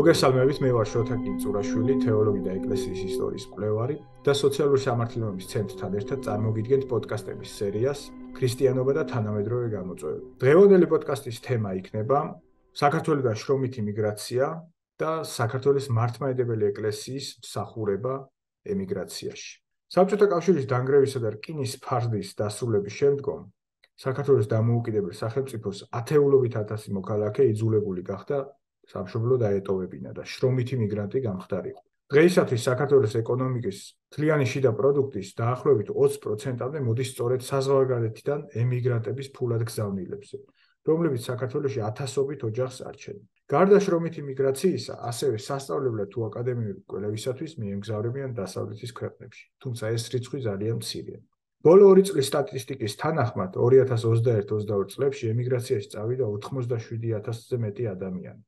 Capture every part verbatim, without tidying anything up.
მოგესალმებით, მე ვარ შოთა კინწურაშვილი, თეოლოგი და ეკლესიის ისტორიის მკვლევარი და სოციალური სამართლიანობის ცენტრთან ერთად წარმოგიდგენთ პოდკასტების სერიას ქრისტიანობა და თანამედროვე გამოწვევები. დღევანდელი პოდკასტის თემა იქნება საქართველოსგან შრომითი მიგრაცია და საქართველოს მართლმადიდებელი ეკლესიის მსახურება ემიგრაციაში. საბჭოთა კავშირის დანგრევისა და რკინის ფარდის დასრულების შემდგომ საქართველოს დამოუკიდებელ სახელმწიფოს ათეულობით ათასი მოქალაქე იძულებული გახდა სამშობლო დაეტოვებინა და შრომითი მიგრანტი გამხდარიყო. დღეისათვის საქართველოს ეკონომიკის მთლიანი შიდა პროდუქტის დაახლოებით ოცი პროცენტამდე მოდის სწორედ საზღვარგარეთიდან ემიგრანტების ფულად გზავნილებზე, რომლებიც საქართველოში ათასობით ოჯახს არჩევენ. გარდა შრომითი მიგრაციისა, ასევე სასწავლებლად თუ აკადემიური კვლევისათვის მიემგზავრებიან დასავლეთის ქვეყნებში, თუმცა ეს რიცხვი ძალიან მცირეა. ბოლო ორი წლის სტატისტიკის თანახმად ორი ათას ოცდაერთ ოცდაორი წლებში ემიგრაციაში წავიდა ოცდაშვიდი ათასზე მეტი ადამიანი.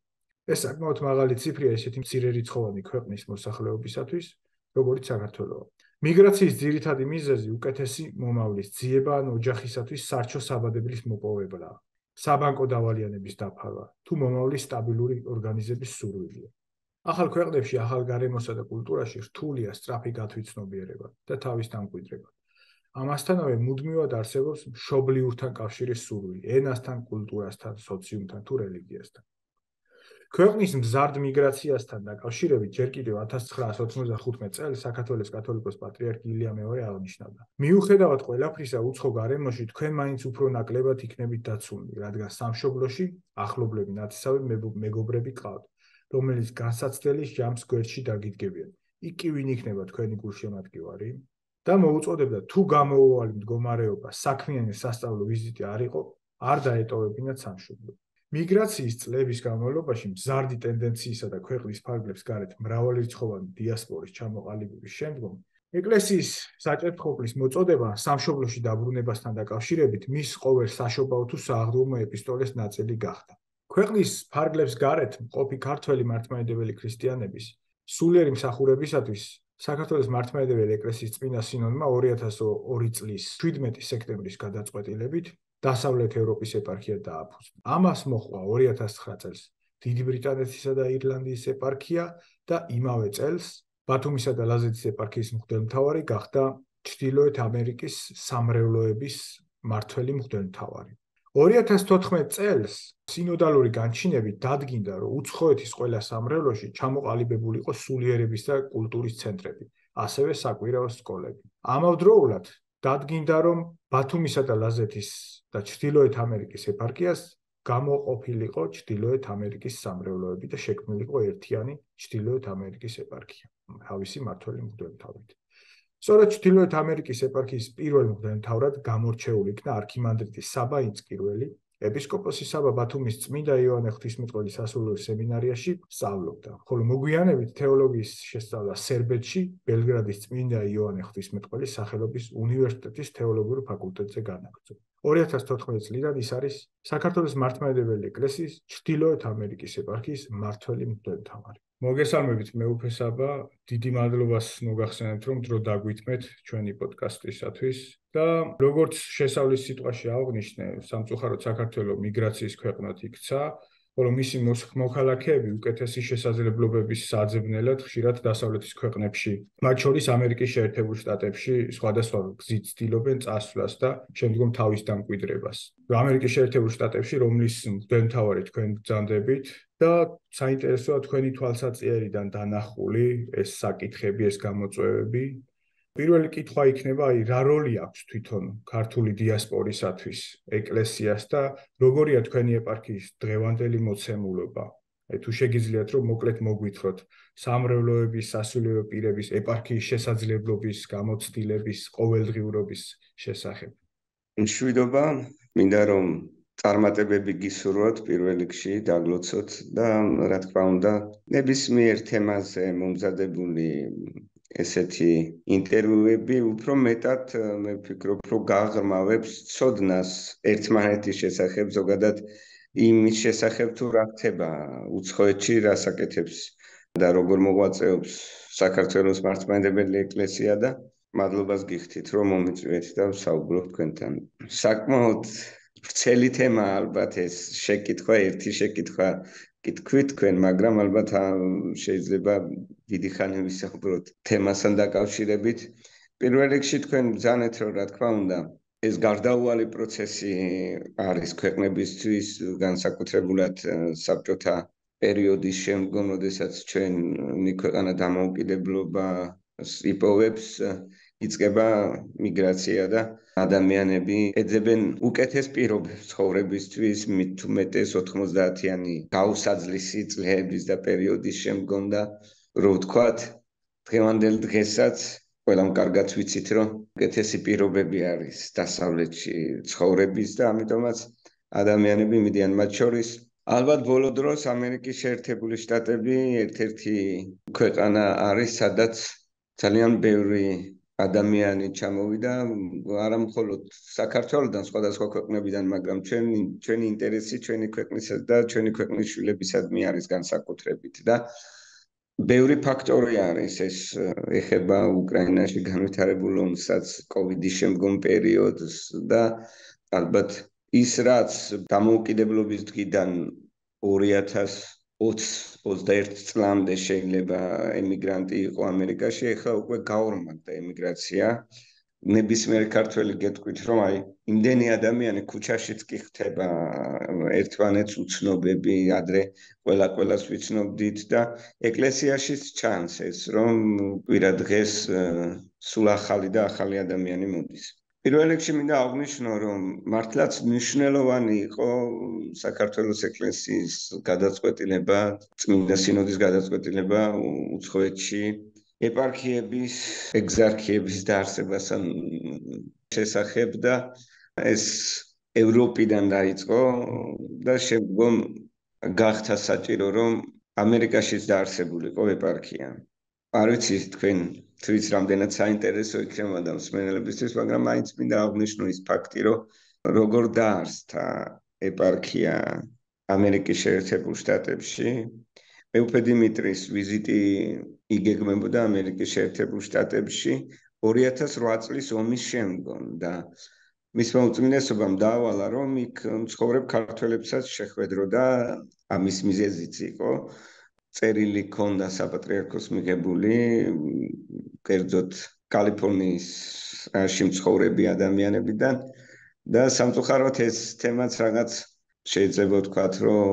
ეს საკმაოდ მაღალი ციფრია ესეთი მცირერიცხოვანი ქვეყნის მოსახლეობისათვის, როგორც საქართველო. მიგრაციის ძირითადი მიზეზი უკეთესი მომავლის ძიება ან ოჯახისათვის სარჩო საბადებლის მოპოვებაა, საბანკო დავალიანების დაფარვა, თუ მომავლის სტაბილური ორგანიზების სურვილია. ახალ ქვეყნებში ახალ გარემოსა და კულტურაში რთულია სწრაფი გათვითცნობიერება და თავის დამკვიდრება. ამასთანავე მუდმივად არსებობს მშობლიურთან კავშირის სურვილი, ენასთან, კულტურასთან, სოციუმთან თუ რელიგიასთან. ქვეყნის მზარდ მიგრაციასთან დაკავშირებით ჯერ კიდევ ათას ცხრაას ოცდახუთმეტ წელს საქართველოს კათოლიკოს პატრიარქი ილია მეორე აღნიშნავდა: მიუხედავად ყველაფრისა, უცხო გარემოში თქვენ მაინც უფრო ნაკლებად იქნებით დაცულნი, რადგან სამშობლოში ახლობლები ნათესავი მეგობრები ყავთ, რომელიც განსაცდელის ჯამს გვერდში დაგიდგებიან. იქ კი ვინ იქნება თქვენი გულშემატკივარი? და მოუწოდებდა თუ გამოუვალი მდგომარეობა საქმიანი სასწავლო ვიზიტი არ იყო, არ დაეტოვებინათ სამშობლო. მიგრაციის წლების განმავლობაში მზარდი ტენდენციისა და ქვეყნის ფარგლებს გარეთ მრავალრიცხოვანი დიასპორის ჩამოყალიბების შემდგომ ეკლესიის საჭერტყოფლის მოწოდება სამშობლოში დაბრუნებასთან დაკავშირებით მის ყოველ საშობაო თუ სააღდუმო ეპისტოლეს ნაწილი გახდა. ქვეყნის ფარგლებს გარეთ მყოფი ქართველი მართლმადიდებელი ქრისტიანების სულიერი მსახურებისათვის საქართველოს მართლმადიდებელი ეკლესიის წმინდა სინოდმა ორი ათას ორი წლის შვიდმეტი სექტემბრის გადაწყვეტილებით დასავლეთ ევროპის ეპარქია დააფუძნა. ამას მოჰყვა ორი ათას ცხრა წელს დიდი ბრიტანეთისა და ირლანდიის ეპარქია და იმავე წელს ბათუმისა და ლაზეთის ეპარქიის მღვდელმთავარი გახდა ჩრდილოეთ ამერიკის სამრევლოების მმართველი მღვდელმთავარი. ორი ათას თოთხმეტ წელს სინოდალური განჩინებით დადგინდა, რომ უცხოეთის ყველა სამრევლოში ჩამოყალიბებული იყო სულიერების და კულტურის ცენტრები, ასევე საკვირაო სკოლები. ამავდროულად დადგინდა, რომ ბათუმისა და ლაზეთის და ჩრდილოეთ ამერიკის ეპარქიას გამოყოფილიყო ჩრდილოეთ ამერიკის სამრევლოები და შექმნილიყო ერთიანი ჩრდილოეთ ამერიკის ეპარქია, თავისი მმართველი მღვდელმთავრით. სწორედ ჩრდილოეთ ამერიკის ეპარქიის პირველ მღვდელმთავრად გამორჩეული იქნა არქიმანდრიტი საბა ინწკირველი, ეპისკოპოსი საბა ბათუმის წმინდა იოანე ღვთისმეტყველის სასულიერო სემინარიაში სწავლობდა, ხოლო მოგვიანებით თეოლოგიის შესწავლა სერბეთში, ბელგრადის წმინდა იოანე ღვთისმეტყველის სახელობის უნივერსიტეტის თეოლოგიურ ფაკულტეტზე განაგრძო. ორი ათას თოთხმეტ წლიდან ის არის საქართველოს მართლმადიდებელი ეკლესიის ჩრდილოეთ ამერიკის ეპარქიის მმართველი მღვდელმთავარი. მოგესალმებით, მეუფე საბა, დიდი მადლობას მოგახსენებთ, რომ დრო დაგვითმეთ ჩვენი პოდკასტისათვის და როგორც შესავლის სიტყვაში აღნიშნე, სამწუხაროდ საქართველოს მიგრაციის ქვეყნად იქცა, ხოლო მისი მოქალაქეები უკეთესი შესაძლებლობების საძებნელად ხშირად დასავლეთის ქვეყნებში, მათ შორის ამერიკის შეერთებულ შტატებში სხვადასხვა გზით ცდილობენ წასვლას და შემდგომ თავის დამკვიდრებას. ამერიკის შეერთებულ შტატებში, რომლის მღვდელმთავარი თქვენ ბრძანდებით და საინტერესოა თქვენი თვალსაჩინარიდან დანახული ეს საკითხები, ეს გამოწვევები. პირველი კითხვა იქნება, აი, რა როლი აქვს თვითონ ქართული დიასპორისათვის ეკლესიას და როგორია თქვენი ეპარქიის დღევანდელი მოცემულობა? აი, თუ შეგიძლიათ, რომ მოკლედ მოგვითხროთ სამრევლოების, სასულიერო პირების, ეპარქიის შესაძლებლობის, გამოცდილების, ყოველდღიურობის შესახებ. მშვიდობა, მინდა რომ წარმატებები გისურვოთ პირველ რიგში, დაგლოცოთ და რა თქმა უნდა, ნებისმიერ თემაზე მომზადებული ესეთი ინტერვიუები უფრო მეტად მე ვფიქრობ, რომ გაღრმავებს ცოდნას ერთმანეთის შესახებ, ზოგადად იმის შესახებ თუ რა ხდება უცხოეთში, რას აკეთებს და როგორ მოღვაწეობს საქართველოს მართლმადიდებელი ეკლესია და მადლობას გიხდით, რომ მომიწვიეთ და ვსაუბრობ თქვენთან. საკმაოდ ვრცელი თემა ალბათ ეს შეკითხვა, ერთი შეკითხვა კითხვით თქვენ, მაგრამ ალბათ შეიძლება დიდი ხანი ვისაუბროთ თემასთან დაკავშირებით. პირველ რიგში თქვენ ბრძანეთ, რომ რა თქმა უნდა, ეს გარდაუვალი პროცესი არის ქვეყნებისთვის, განსაკუთრებულად საბჭოთა პერიოდის შემდგომ, როდესაც ჩვენი ქვეყანა დამოუკიდებლობას იპოვებს, იწყება მიგრაცია და ადამიანები ეძებენ უკეთეს პირობებს ცხოვრებისთვის, მით უმეტეს ოთხმოცდაათიანი გაუსაძლისი წლების და პერიოდის შემდგომ და რო ვთქვათ, დღევანდელ დღესაც ყველამ კარგად ვიცით, რომ უკეთესი პირობები არის დასავლეთში ცხოვრების და ამიტომაც ადამიანები მიდიან მათ შორის. ალბათ ბოლო დროს ამერიკის შეერთებული შტატები ერთ-ერთი ქვეყანა არის, სადაც ძალიან ბევრი ადამიანი ჩამოვიდა, არა მხოლოდ საქართველოდან, სხვადასხვა ქვეყნებიდან, მაგრამ ჩვენი ჩვენი ინტერესი, ჩვენი ქვეყნისა და ჩვენი ქვეყნის შვილებისადმი არის განსაკუთრებით და ბევრი ფაქტორი არის, ეს ეხება უკრაინაში განვითარებულ ომსაც, კოვიდის შემდგომ პერიოდს და ალბათ ის რაც დამოუკიდებლობის დღიდან ორი ათას ოცდაერთი წლამდე შეიძლება ემიგრანტი იყო ამერიკაში, ეხლა უკვე გაორმაგდა ემიგრაცია. ნებისმიერ ქართველი გეტყვით, რომ აი იმდენი ადამიანი ქუჩაშიც კი ხდება, ერთმანეთს უცნობები, ადრე ყველა ყველას ვიცნობდით და ეკლესიაშიც ჩანს ეს, რომ კვირა დღეს სულ ახალი და ახალი ადამიანი მოდის. პირველ რიგში მინდა აღვნიშნო, რომ მართლაც მნიშვნელოვანი იყო საქართველოს ეკლესიის გადაწყვეტილება, წმინდა სინოდის გადაწყვეტილება უცხოეთში ეპარქიების, ეგზარქიების დაარსებასთან შესახებ და ეს ევროპიდან დაიწყო და შემდგომ გახდა საჭირო, რომ ამერიკაშიც დაარსებულიყო ეპარქია. არ ვიცი თქვენ თვით რამდენად საინტერესო იქნება და მსმენელებისთვის, მაგრამ მაინც მინდა აღვნიშნო ის ფაქტი, რომ როგორ დაარსდა ეპარქია ამერიკის შეერთებულ შტატებში. მეუფე დიმიტრის ვიზიტი იგეგმებოდა ამერიკის შეერთებულ შტატებში ორი ათას რვა წლის ომის შემდგომ და მისმა უწმინდესობამ დაავალა, რომ იქ მცხოვრებ ქართველებსაც შეხვედროდა, ამის მიზეზიც იყო. წერილი ჰქონდა საპატრიარქოს მიღებული, კერძოდ კალიფორნიაში მცხოვრები ადამიანებიდან და სამწუხაროდ ეს თემაც რაღაც შეიძლება ვთქვათ, რომ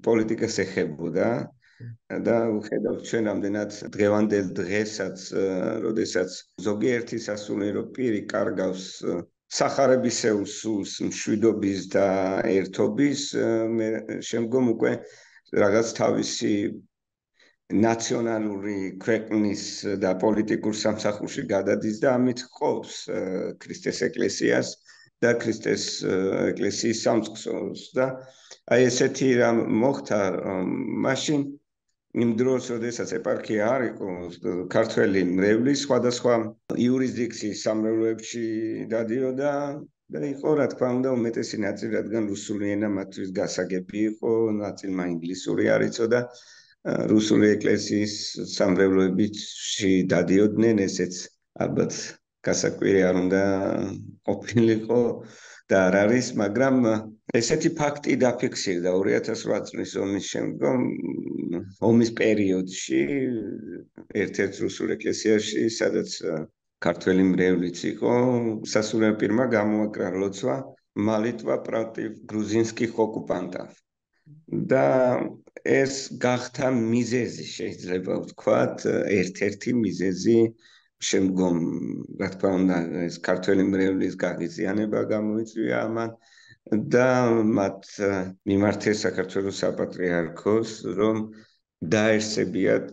პოლიტიკას ეხებოდა და ვხედავთ ჩვენ რამდენად დღევანდელ დღესაც, როდესაც ზოგიერთი სასულიერო პირი კარგავს სახარებისეულ სულს მშვიდობის და ერთობის, შემდგომ უკვე რაღაც თავისი ნაციონალური ქვეყნის და პოლიტიკურ სამსახურში გადადის და ამით ყოფს ქრისტეს ეკლესიას და ქრისტეს ეკლესიის სამწყსოს და აი ესეთი რამ მოხდა მაშინ იმ დროს, როდესაც ეპარქია არ იყო, ქართველი მრევლი სხვადასხვა იურისდიქციის სამრევლოებში დადიოდა და იყო, რა თქმა უნდა, უმეტესი ნაწილი, რადგან რუსული ენა მათთვის გასაგები იყო, ნაწილმა ინგლისური არ იცოდა. რუსული ეკლესიის სამრევლოებში დადიოდნენ, ესეც ალბათ გასაკვირი არ უნდა ყოფილიყო და არ არის, მაგრამ ესეთი ფაქტი დაფიქსირდა ორი ათას რვა წლის ომის შემდგომ, ომის პერიოდში, ერთ-ერთ რუსულ ეკლესიაში, სადაც ქართველი მრევლიც იყო, სასულიერო პირმა გამოაკრა ლოცვა მალიტვა პროტივ გრუზინსკих ოკუპანტов. და ეს გახდა მიზეზი, შეიძლება ვთქვათ, ერთ-ერთი მიზეზი შემდგომ, რა თქმა უნდა, ეს ქართველი მრევლის გაღიზიანება გამოიწვია ამან და მათ მიმართეს საქართველოს საპატრიარქოს, რომ დაესწებიათ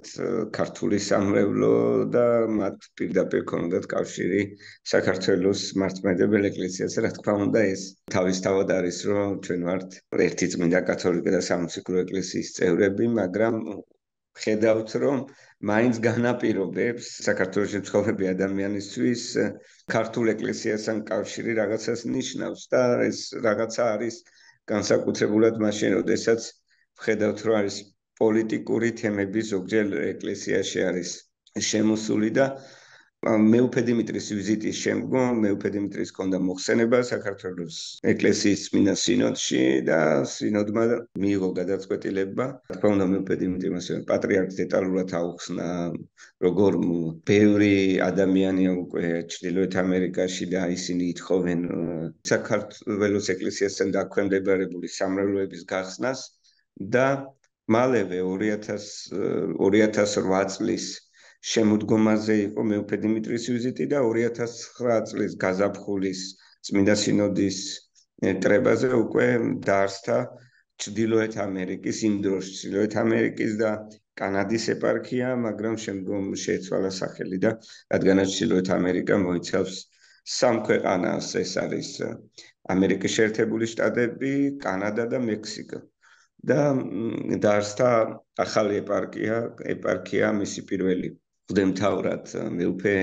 ქართული სამრევლო და მათ პირდაპირ ქონდათ კავშირი საქართველოს მართლმადიდებელ ეკლესიასთან. რა თქმა უნდა, ეს თავისთავად არის, რომ ჩვენ ვართ ერთი წმინდა კათოლიკე და სამოციქულო ეკლესიის წევრები, მაგრამ ხედავთ, რომ მაინც განაპირობებს საქართველოში მცხოვრები ადამიანისთვის ქართულ ეკლესიასთან კავშირი რაღაცას ნიშნავს და ეს რაღაცა არის განსაკუთრებულად მაშინ, როდესაც ვხედავთ, რომ არის პოლიტიკური თემები ზოგჯერ ეკლესიაში არის შემოსული და მეუფე დიმიტრის ვიზიტის შემდგომ მეუფე დიმიტრის ჰქონდა მოხსენება საქართველოს ეკლესიის წმინდა სინოდში და სინოდმა მიიღო გადაწყვეტილება. რა თქმა უნდა, მეუფე დიმიტრიმ ასევე პატრიარქს დეტალურად აუხსნა, როგორ ბევრი ადამიანია უკვე ჩრდილოეთ ამერიკაში და ისინი ითხოვენ საქართველოს ეკლესიასთან დაქვემდებარებული სამრევლოების გახსნას და მალევე ორი ათას რვა წლის შემოდგომაზე იყო მეუფე დიმიტრის ვიზიტი და ორი ათას ცხრა წლის გაზაფხულის წმინდა სინოდის კრებაზე უკვე დაარსდა ჩრდილოეთ ამერიკის, იმ დროს ჩრდილოეთ ამერიკის და კანადის ეპარქია, მაგრამ შემდგომ შეეცვალა სახელი და რადგანაც ჩრდილოეთ ამერიკა მოიცავს სამ ქვეყანას, ეს არის ამერიკის შეერთებული შტატები, კანადა და მექსიკა. და დაარსდა ახალი ეპარქია, ეპარქია მისი პირველი მღვდელმთავრად მეუფე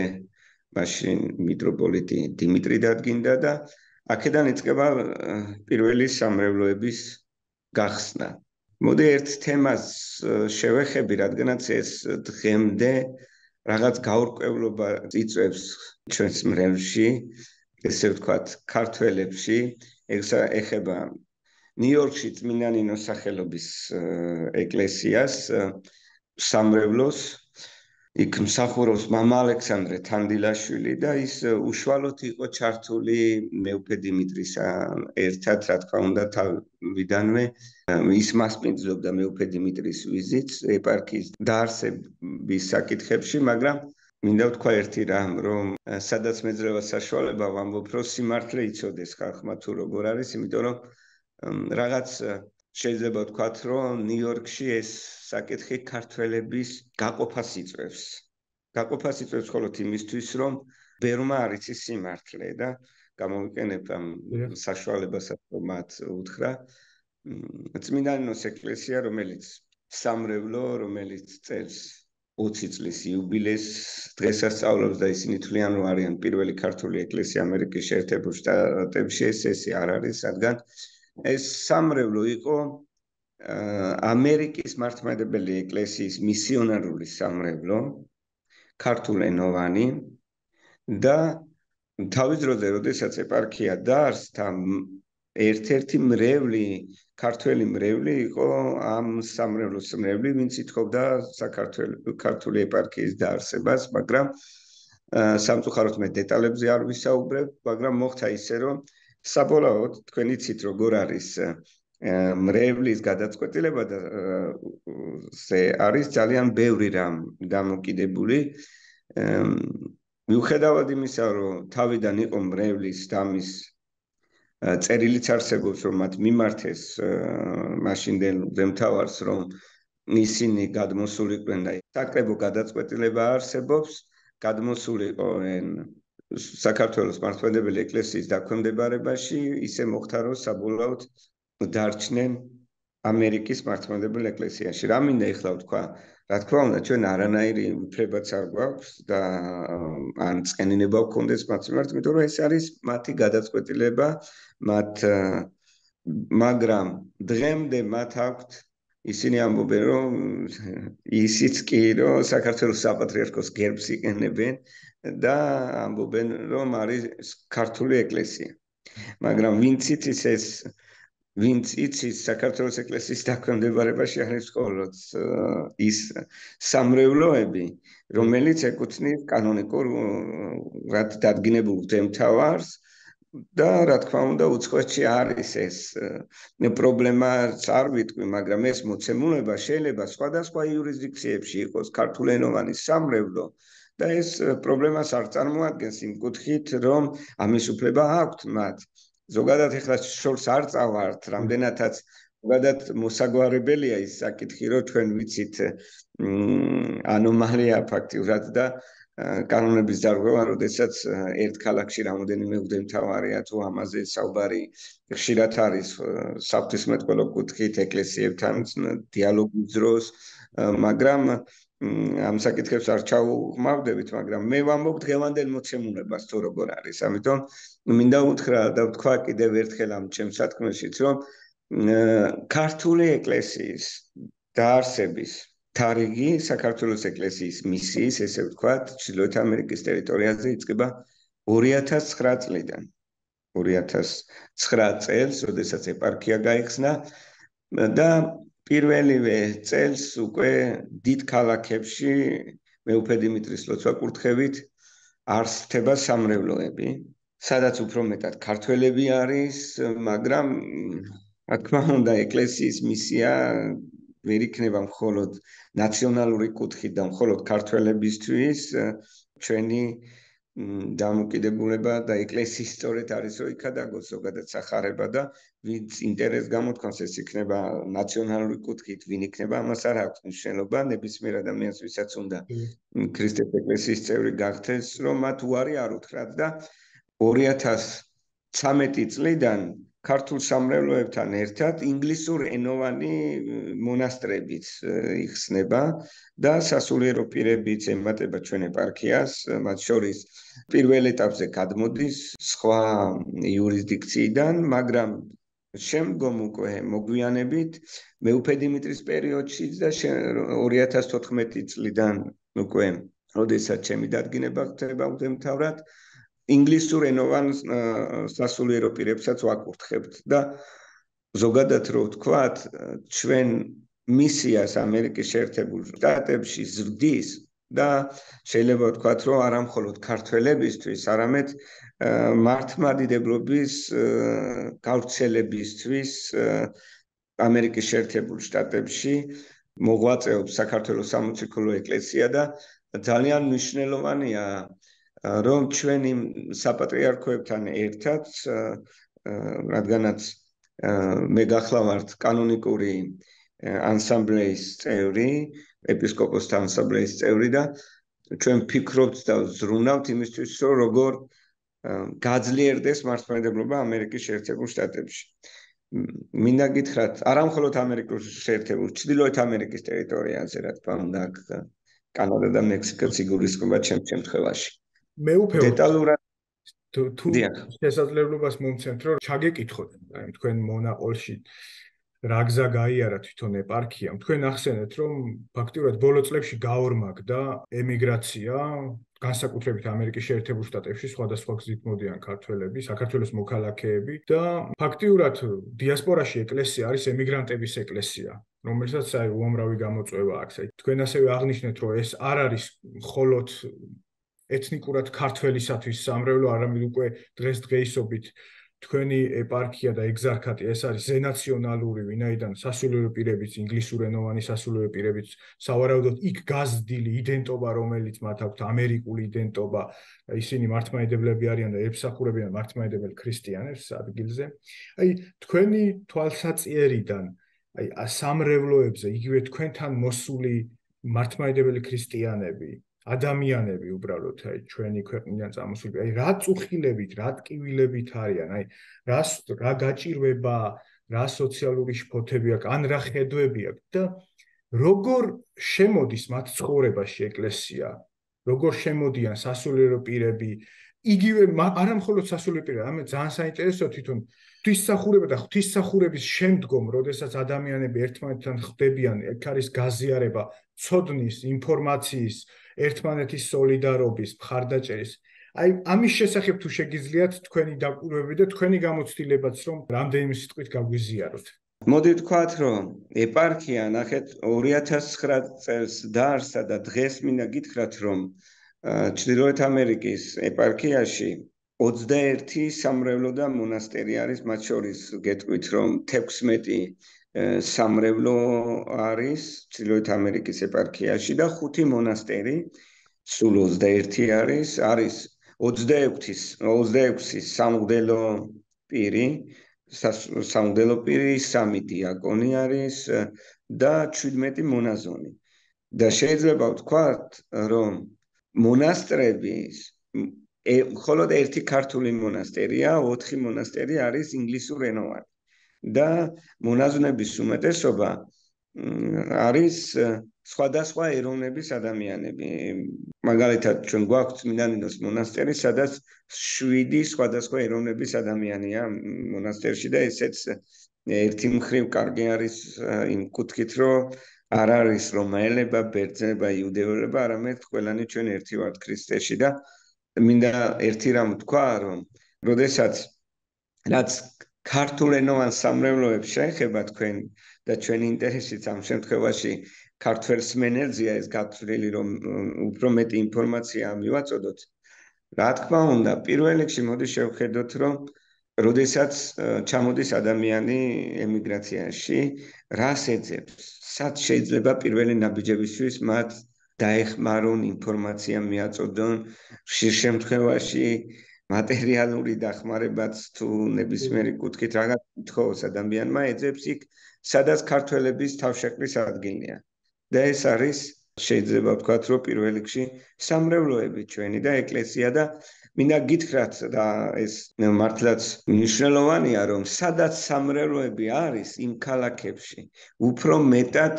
მაშინ მიტროპოლიტი დიმიტრი დადგინდა და აქედან იწყება პირველი სამრევლოების გახსნა. მოდი ერთ თემას შევეხები, რადგანაც ეს დღემდე რაღაც გაურკვევლობა იწვევს ჩვენს მრევლში, ესე ვთქვათ, ქართველებში, ეხება ნიუ-იორკში წმინდა ნინოს სახელობის ეკლესიას, სამრევლოს, იქ მსახურობს მამა ალექსანდრე თანდილაშვილი და ის უშუალოდ იყო ჩართული მეუფე დიმიტრის ერთად, რა თქმა უნდა, თავიდანვე ის მასპინძლობდა მეუფე დიმიტრის ვიზიტს ეპარქიის დაარსების საკითხებში, მაგრამ მინდა ვთქვა ერთი რამ, რომ სადაც მეძრევა საშუალება ვამბობ, რომ სიმართლე იცოდეს ხალხმა თუ როგორ არის, იმიტომ რომ რაღაც შეიძლება ვთქვათ, რომ ნიუ-იორკში ეს საკითხი ქართველების გაყოფას იწვევს. გაყოფას იწვევს მხოლოდ იმისთვის, რომ ბევრმა არ იცის სიმართლე და გამოვიყენებ ამ საშუალებასაც, რომ მათ უთხრა. წმინდა ნინოს ეკლესია, რომელიც სამრევლო, რომელიც წელს ოცი წლის იუბილეს დღესასწაულობს და ისინი თვლიან, რომ არიან პირველი ქართული ეკლესია ამერიკის შეერთებულ შტატებში, ეს ესე არ არის, რადგან ეს სამრევლო იყო ამერიკის მართლმადიდებელი ეკლესიის მისიონარული სამრევლო, ქართულენოვანი და თავის დროზე, როდესაც ეპარქია დაარსდა, ერთ-ერთი მრევლი, ქართველი მრევლი იყო ამ სამრევლოს მრევლი, ვინც ითხოვდა საქართველოს ქართული ეპარქიის დაარსებას, მაგრამ სამწუხაროდ მე დეტალებზე არ ვისაუბრებ, მაგრამ მოხდა ისე, რომ საბოლოოდ თქვენ იცით როგორ არის მრევლის გადაწყვეტილება და არის ძალიან ბევრი რამ დამოკიდებული. მიუხედავად იმისა, რომ თავიდან იყო მრევლის დამის წერილიც არსებობს, რომ მათ მიმართეს მაშინდელ მღვდელმთავარს, რომ ისინი გადმოსულიყვნენ და საკრებო გადაწყვეტილება არსებობს, გადმოსულიყვნენ საქართველოს მართლმადიდებელი ეკლესიის დაქვემდებარებაში, ისე მოხდა, რომ საბოლოოდ დარჩნენ ამერიკის მართლმადიდებელ ეკლესიაში. რა მინდა ეხლა ვთქვა, რა თქმა უნდა, ჩვენ არანაირი უფლებაც არ გვაქვს და ან წყენინება გვქონდეს მათ მიმართ, იმიტომ რომ ეს არის მათი გადაწყვეტილება, მათ მაგრამ დღემდე მათ აქვთ ისინი ამბობენ, რომ ისიც კი, რომ საქართველოს საპატრიარქოს გერბს იყენებენ და ამბობენ, რომ არის ქართული ეკლესია. მაგრამ ვინც იცის ეს, ვინც იცის საქართველოს ეკლესიის დაქვემდებარებაში არის მხოლოდ ის სამრევლოები, რომელიც ეკუთვნის კანონიკურ დადგინებულ მღვდელმთავარს და რა თქმა უნდა, უცხოეთში არის ეს პრობლემაც არ ვიტყვი, მაგრამ ეს მოცემულობა შეიძლება სხვადასხვა იურისდიქციებში იყოს ქართულენოვანი სამრევლო და ეს პრობლემას არ წარმოადგენს იმ კუთხით, რომ ამის უფლება აქვთ მათ. ზოგადად ეხლა შორს არ წავართ, რამდენადაც ზოგადად მოსაგვარებელია ის საკითხი, რომ ჩვენ ვიცით ანომალია ფაქტიურად და კანონების დარღვევა, როდესაც ერთ ქალაქში რამოდენიმე მღვდელმთავარია თუ ამაზე საუბარი ხშირად არის საღვთისმეტყველო კუთხით ეკლესიებთან დიალოგის დროს, მაგრამ ამ საკითხებს არ ჩავხმავდებით, მაგრამ მე ვამბობ დღევანდელ მოცემულებას თუ როგორ არის. ამიტომ მინდა უთხრა და ვთქვა კიდევ ერთხელ ამ ჩემს სათქმელშიც, რომ ქართული ეკლესიის დაარსების თარიგი საქართველოს ეკლესიის მისიის, ესე ვთქვათ, ჩრდილოეთ ამერიკის ტერიტორიაზე იწყება ორი ათას ცხრა წლიდან. ორი ათას ცხრა წელს, როდესაც ეპარქია გაიხსნა და პირველივე წელს უკვე დიდ ქალაქებში მეუფე დიმიტრის ლოცვა-კურთხევით არსდება სამრევლოები, სადაც უფრო მეტად ქართველები არის, მაგრამ რა თქმა უნდა, ეკლესიის მისია ვერ იქნება მხოლოდ ნაციონალური კუთხით და მხოლოდ ქართველებისთვის, ჩვენი დამოკიდებულება და ეკლესიის სწორედ არის, რომ იქადაგოს ზოგადად სახარება და ვინც ინტერესს გამოთქვამს, ეს იქნება ნაციონალური კუთხით, ვინ იქნება, ამას არ აქვს მნიშვნელობა, ნებისმიერ ადამიანს, ვისაც უნდა ქრისტეს ეკლესიის წევრი გახდეს, რომ მათ უარი არ უთხრათ და ორი ათას ცხრამეტი წლიდან ქართულ სამრევლოებთან ერთად ინგლისურ ენოვანი მონასტრებიც იხსნება და სასულიერო პირებიც ემატება ჩვენ ეპარქიას, მათ შორის პირველ ეტაპზე გადმოდის სხვა იურისდიქციიდან, მაგრამ შემდგომ უკვე მოგვიანებით მეუფე დიმიტრის პერიოდშიც და ორი ათას თოთხმეტი წლიდან უკვე, როდესაც ჩემი დადგინება ხდება უდემთავრად, ინგლისურ ენოვან სასულიერო პირებსაც ვაკურთხებთ და ზოგადად რო ვთქვათ, ჩვენ მისიას ამერიკის შეერთებულ შტატებში ზრდის და შეიძლება ვთქვათ, რომ არა მხოლოდ ქართველებისთვის, არამედ მართლმადიდებლობის გავრცელებისთვის ამერიკის შეერთებულ შტატებში მოღვაწეობს საქართველოს სამოციქულო ეკლესია და ძალიან მნიშვნელოვანია, რომ ჩვენი საპატრიარქოებთან ერთად, რადგანაც მე გახლავართ კანონიკური ანსამბლეის წევრი, ეპისკოპოსთა ანსამბლეის წევრი და ჩვენ ფიქრობთ და ზრუნავთ იმისთვის, რომ როგორ გაძლიერდეს მართლმადიდებლობა ამერიკის შეერთებულ შტატებში. მინდა გითხრათ, არა მხოლოდ ამერიკის შეერთებულ, ჩრდილოეთ ამერიკის ტერიტორიაზე, რა თქმა უნდა, კანადა და მექსიკაც იგულისხმება ჩემს შემთხვევაში. მე უფრო დეტალურად თუ შესაძლებლობას მომცემთ, რომ ჩაგეკითხოთ, აი თქვენ მონაყოლში რა გზა გაიარა თვითონ ეპარქიამ. თქვენ ახსენეთ, რომ ფაქტიურად ბოლო წლებში გაორმაგდა ემიგრაცია, განსაკუთრებით ამერიკის შეერთებულ შტატებში სხვადასხვა გზით მოდიან ქართველები, საქართველოს მოქალაქეები და ფაქტიურად დიასპორაში ეკლესია არის ემიგრანტების ეკლესია, რომელსაც აი უამრავი გამოწვევა აქვს. აი თქვენ ასევე აღნიშნეთ, რომ ეს არ არის მხოლოდ ეთნიკურად ქართველისათვის სამრევლო, არამედ უკვე დღესდღეობით თქვენი ეპარქია და ეგზარქატი ეს არის ზენაციონალური, ვინაიდან სასულიერო პირებიც, ინგლისურენოვანი სასულიერო პირებიც, სავარაუდოდ იქ გაზრდილი იდენტობა, რომელიც მათ აქვთ ამერიკული იდენტობა, ისინი მართლმადიდებლები არიან და ემსახურებიან მართლმადიდებელ ქრისტიანებს ადგილზე. აი თქვენი თვალსაჩინარიდან, აი სამრევლოებზე, იგივე თქვენთან მოსული მართლმადიდებელი ქრისტიანები, ადამიანები უბრალოდ აი ჩვენი ქვეყნიდან წამოსული, აი რა წუხილებით, რა ტკივილებით არიან, აი რა რა გაჭირვება, რა სოციალური შფოთები აქვს, ან რა ხედვები აქვს და როგორ შემოდის მათ ცხოვრებაში ეკლესია, როგორ შემოდიან სასულიერო პირები, იგივე არა მხოლოდ სასულიერო პირები, არამედ ძალიან საინტერესოა თვითონ ღვთისმსახურება და ღვთისმსახურების შემდგომ, როდესაც ადამიანები ერთმანეთთან ხდებიან, ეგ არის გაზიარება, ცოდნის, ინფორმაციის, ერთმანეთის სოლიდარობის, მხარდაჭერის. აი ამის შესახებ თუ შეგიძლიათ თქვენი დაკვირვები და თქვენი გამოცდილებაც, რომ რამდენიმე სიტყვით გაგვიზიაროთ. მოდი ვთქვათ, რომ ეპარქია ნახეთ ორი ათას ცხრა წელს დაარსდა და დღეს მინდა გითხრათ, რომ ჩრდილოეთ ამერიკის ეპარქიაში ოცდაერთი სამრევლო და მონასტერი არის, მათ შორის გეტყვით, რომ თექვსმეტი სამრევლო არის ჩრდილოეთ ამერიკის ეპარქიაში და ხუთი მონასტერი, სულ ოცდაერთი არის, არის ოცდაექვსი სამღვდელო პირი, სამღვდელო პირი, სამი დიაკონი არის და შვიდმეტი მონაზონი. და შეიძლება ვთქვათ, რომ მონასტრების მხოლოდ ერთი ქართული მონასტერია, ოთხი მონასტერი არის ინგლისურენოვანი. და მონაზვნების უმეტესობა არის სხვადასხვა ეროვნების ადამიანები. მაგალითად, ჩვენ გვაქვს წმინდანინოს მონასტერი, სადაც შვიდი სხვადასხვა ეროვნების ადამიანია მონასტერში და ესეც ერთი მხრივ კარგი არის იმ კუთხით, რომ არ არის რომაელება, ბერძნება, იუდეველება, არამედ ყველანი ჩვენ ერთი ვართ ქრისტეში და მინდა ერთი რამ თქვა, რომ როდესაც რაც ქართულენოვან სამრევლოებს შეეხება თქვენ და ჩვენი ინტერესიც ამ შემთხვევაში ქართველს მენერძია ეს გათვლილი, რომ უფრო მეტი ინფორმაცია მივაწოდოთ. რა თქმა უნდა, პირველ რიგში მოდი შევხედოთ, რომ როდესაც ჩამოდის ადამიანი ემიგრაციაში, რას ეძებს? სად შეიძლება პირველი ნაბიჯებისთვის მათ დაეხმარონ, ინფორმაცია მიაწოდონ, ხშირ შემთხვევაში მატერიალური დახმარებაც თუ ნებისმიერი კუთხით რაღაც ითხოვს ადამიანმა, ეძებს იქ, სადაც ქართველების თავშეყრის ადგილია. და ეს არის შეიძლება ვთქვათ, რომ პირველ რიგში სამრევლოები ჩვენი და ეკლესია და მინდა გითხრათ და ეს მართლაც მნიშვნელოვანია, რომ სადაც სამრევლოები არის იმ ქალაქებში, უფრო მეტად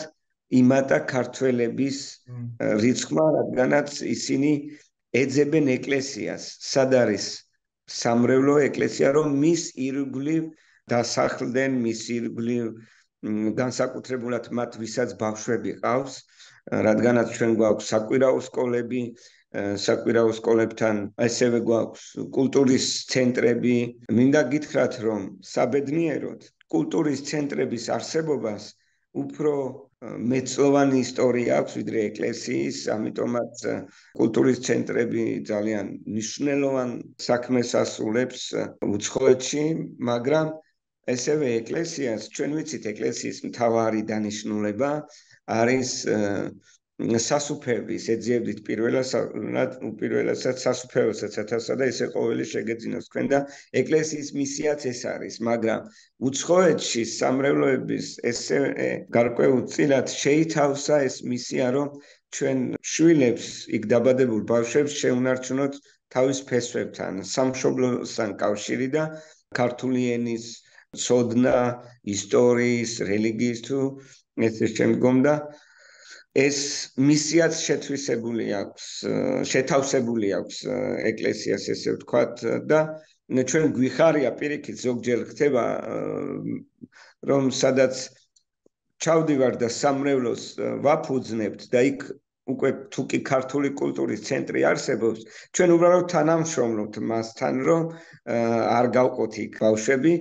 იმატა ქართველების რიცხვმა, რადგანაც ისინი ეძებენ ეკლესიას. სად არის სამრევლო ეკლესია, რომ მის ირგვლივ დასახლდნენ, მის ირგვლივ განსაკუთრებულად მათ ვისაც ბავშვები ყავს, რადგანაც ჩვენ გვაქვს საკვირაო სკოლები, საკვირაო სკოლებთან ასევე გვაქვს კულტურის ცენტრები. მინდა გითხრათ, რომ საბედნიეროდ კულტურის ცენტრების არსებობას უფრო მეცლოვანი ისტორია აქვს ვიდრე ეკლესიის, ამიტომაც კულტურის ცენტრები ძალიან მნიშვნელოვან საქმეს ასრულებს უცხოეთში, მაგრამ ესევე ეკლესიას, ჩვენ ვიცით ეკლესიის მთავარი დანიშნულება არის სასუფევის, ეძიებდით პირველად, უპირველესად სასუფეველსაც ათასსა და ესე ყოველი შეგეძინოს თქვენ და ეკლესიის მისიაც ეს არის, მაგრამ უცხოეთში სამრევლოების ესე გარკვეულწილად შეითავსა ეს მისია, რომ ჩვენ შვილებს, იქ დაბადებულ ბავშვებს შეუნარჩუნოთ თავის ფესვებთან, სამშობლოსთან კავშირი და ქართული ენის ცოდნა, ისტორიის, რელიგიის თუ ესე შემდგომ და ეს მისიაც შეთვისებული აქვს, შეთავსებული აქვს ეკლესიას, ესე ვთქვათ და ჩვენ გვიხარია პირიქით ზოგჯერ ხდება, რომ სადაც ჩავდივარ და სამრევლოს ვაფუძნებთ და იქ უკვე თუ კი ქართული კულტურის ცენტრი არსებობს, ჩვენ უბრალოდ თანამშრომლობთ მასთან, რომ არ გავყოთ იქ ბავშვები,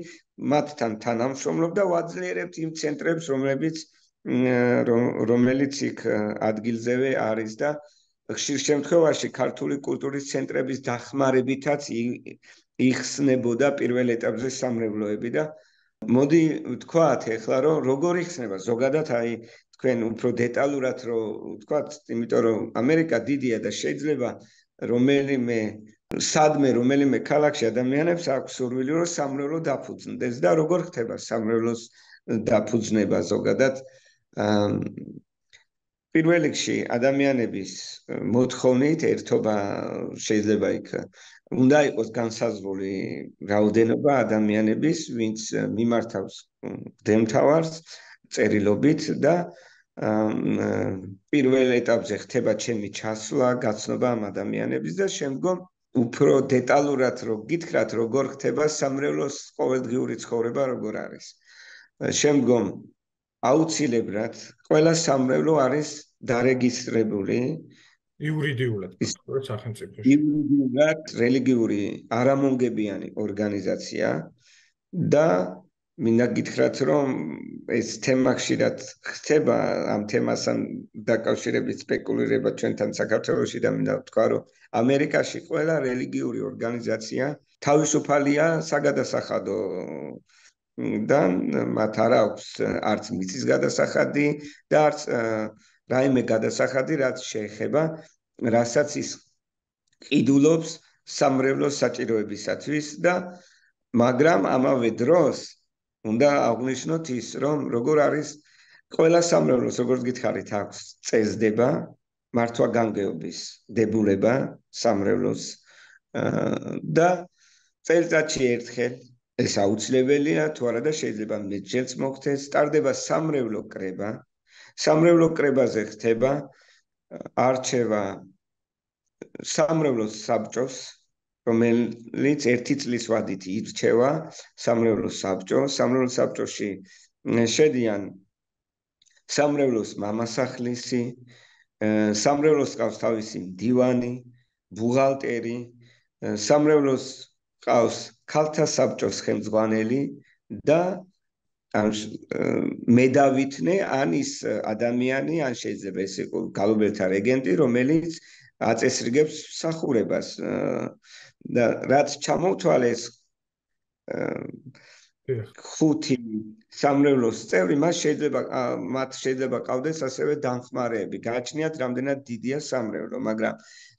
მათთან თანამშრომლობ და ვაძლიერებთ იმ ცენტრებს, რომლებიც რომელიც იქ ადგილზევე არის და ხშირ შემთხვევაში ქართული კულტურის ცენტრების დახმარებითაც იხსნებოდა პირველ ეტაპზე სამრევლოები და მოდი ვთქვათ ეხლა, რომ როგორ იხსნება ზოგადად აი თქვენ უფრო დეტალურად რომ ვთქვათ, იმიტომ რომ ამერიკა დიდია და შეიძლება რომელიმე სადმე რომელიმე ქალაქში ადამიანებს აქვს სურვილი რომ სამრევლო დაფუძნდეს და როგორ ხდება სამრევლოს დაფუძნება ზოგადად პირველ რიგში ადამიანების მოთხოვნით ერთობა შეიძლება იქ უნდა იყოს განსაზღვრული რაოდენობა ადამიანების, ვინც მიმართავს დემთავარს წერილობით და პირველ ეტაპზე ხდება ჩემი ჩასვლა, გაცნობა ამ ადამიანების და შემდგომ უფრო დეტალურად რო გითხრათ, როგორ ხდება სამრევლოს ყოველდღიური ცხოვრება, როგორ არის. შემდგომ აუცილებლად ყველა სამრევლო არის დარეგისტრირებული იურიდიულად, სახელმწიფოში. იურიდიულად რელიგიური არამონგებიანი ორგანიზაცია და მინდა გითხრათ, რომ ეს თემა ხშირად ხდება, ამ თემასთან დაკავშირებით სპეკულირება ჩვენთან საქართველოში და მინდა ვთქვა, რომ ამერიკაში ყველა რელიგიური ორგანიზაცია თავისუფალია საგადასახადო და მათ არ აქვს არც მიწის გადასახადი და არც რაიმე გადასახადი, რაც შეეხება, რასაც ის ყიდულობს სამრევლოს საჭიროებისათვის და მაგრამ ამავე დროს უნდა აღვნიშნოთ ის, რომ როგორ არის ყველა სამრევლოს, როგორც გითხარით, აქვს წესდება, მართვა-გამგეობის დებულება სამრევლოს და წელიწადში ერთხელ ეს აუცილებელია, თუ არა და შეიძლება მეტჯერც მოხდეს, ტარდება სამრევლო კრება. სამრევლო კრებაზე ხდება არჩევა სამრევლოს საბჭოს, რომელიც ერთი წლის ვადით ირჩევა სამრევლოს საბჭო. სამრევლოს საბჭოში შედიან სამრევლოს მამასახლისი, სამრევლოს ყავს თავისი მდივანი, ბუღალტერი, სამრევლოს ყავს ქალთა საბჭოს ხელმძღვანელი და ან მედავითნე ან ის ადამიანი, ან შეიძლება ეს იყოს გალობელთა რეგენტი, რომელიც აწესრიგებს მსახურებას და რაც ჩამოთვალეს ხუთი სამრევლოს წევრი, მას შეიძლება მათ შეიძლება ყავდეს ასევე დამხმარეები. გააჩნიათ რამდენად დიდია სამრევლო, მაგრამ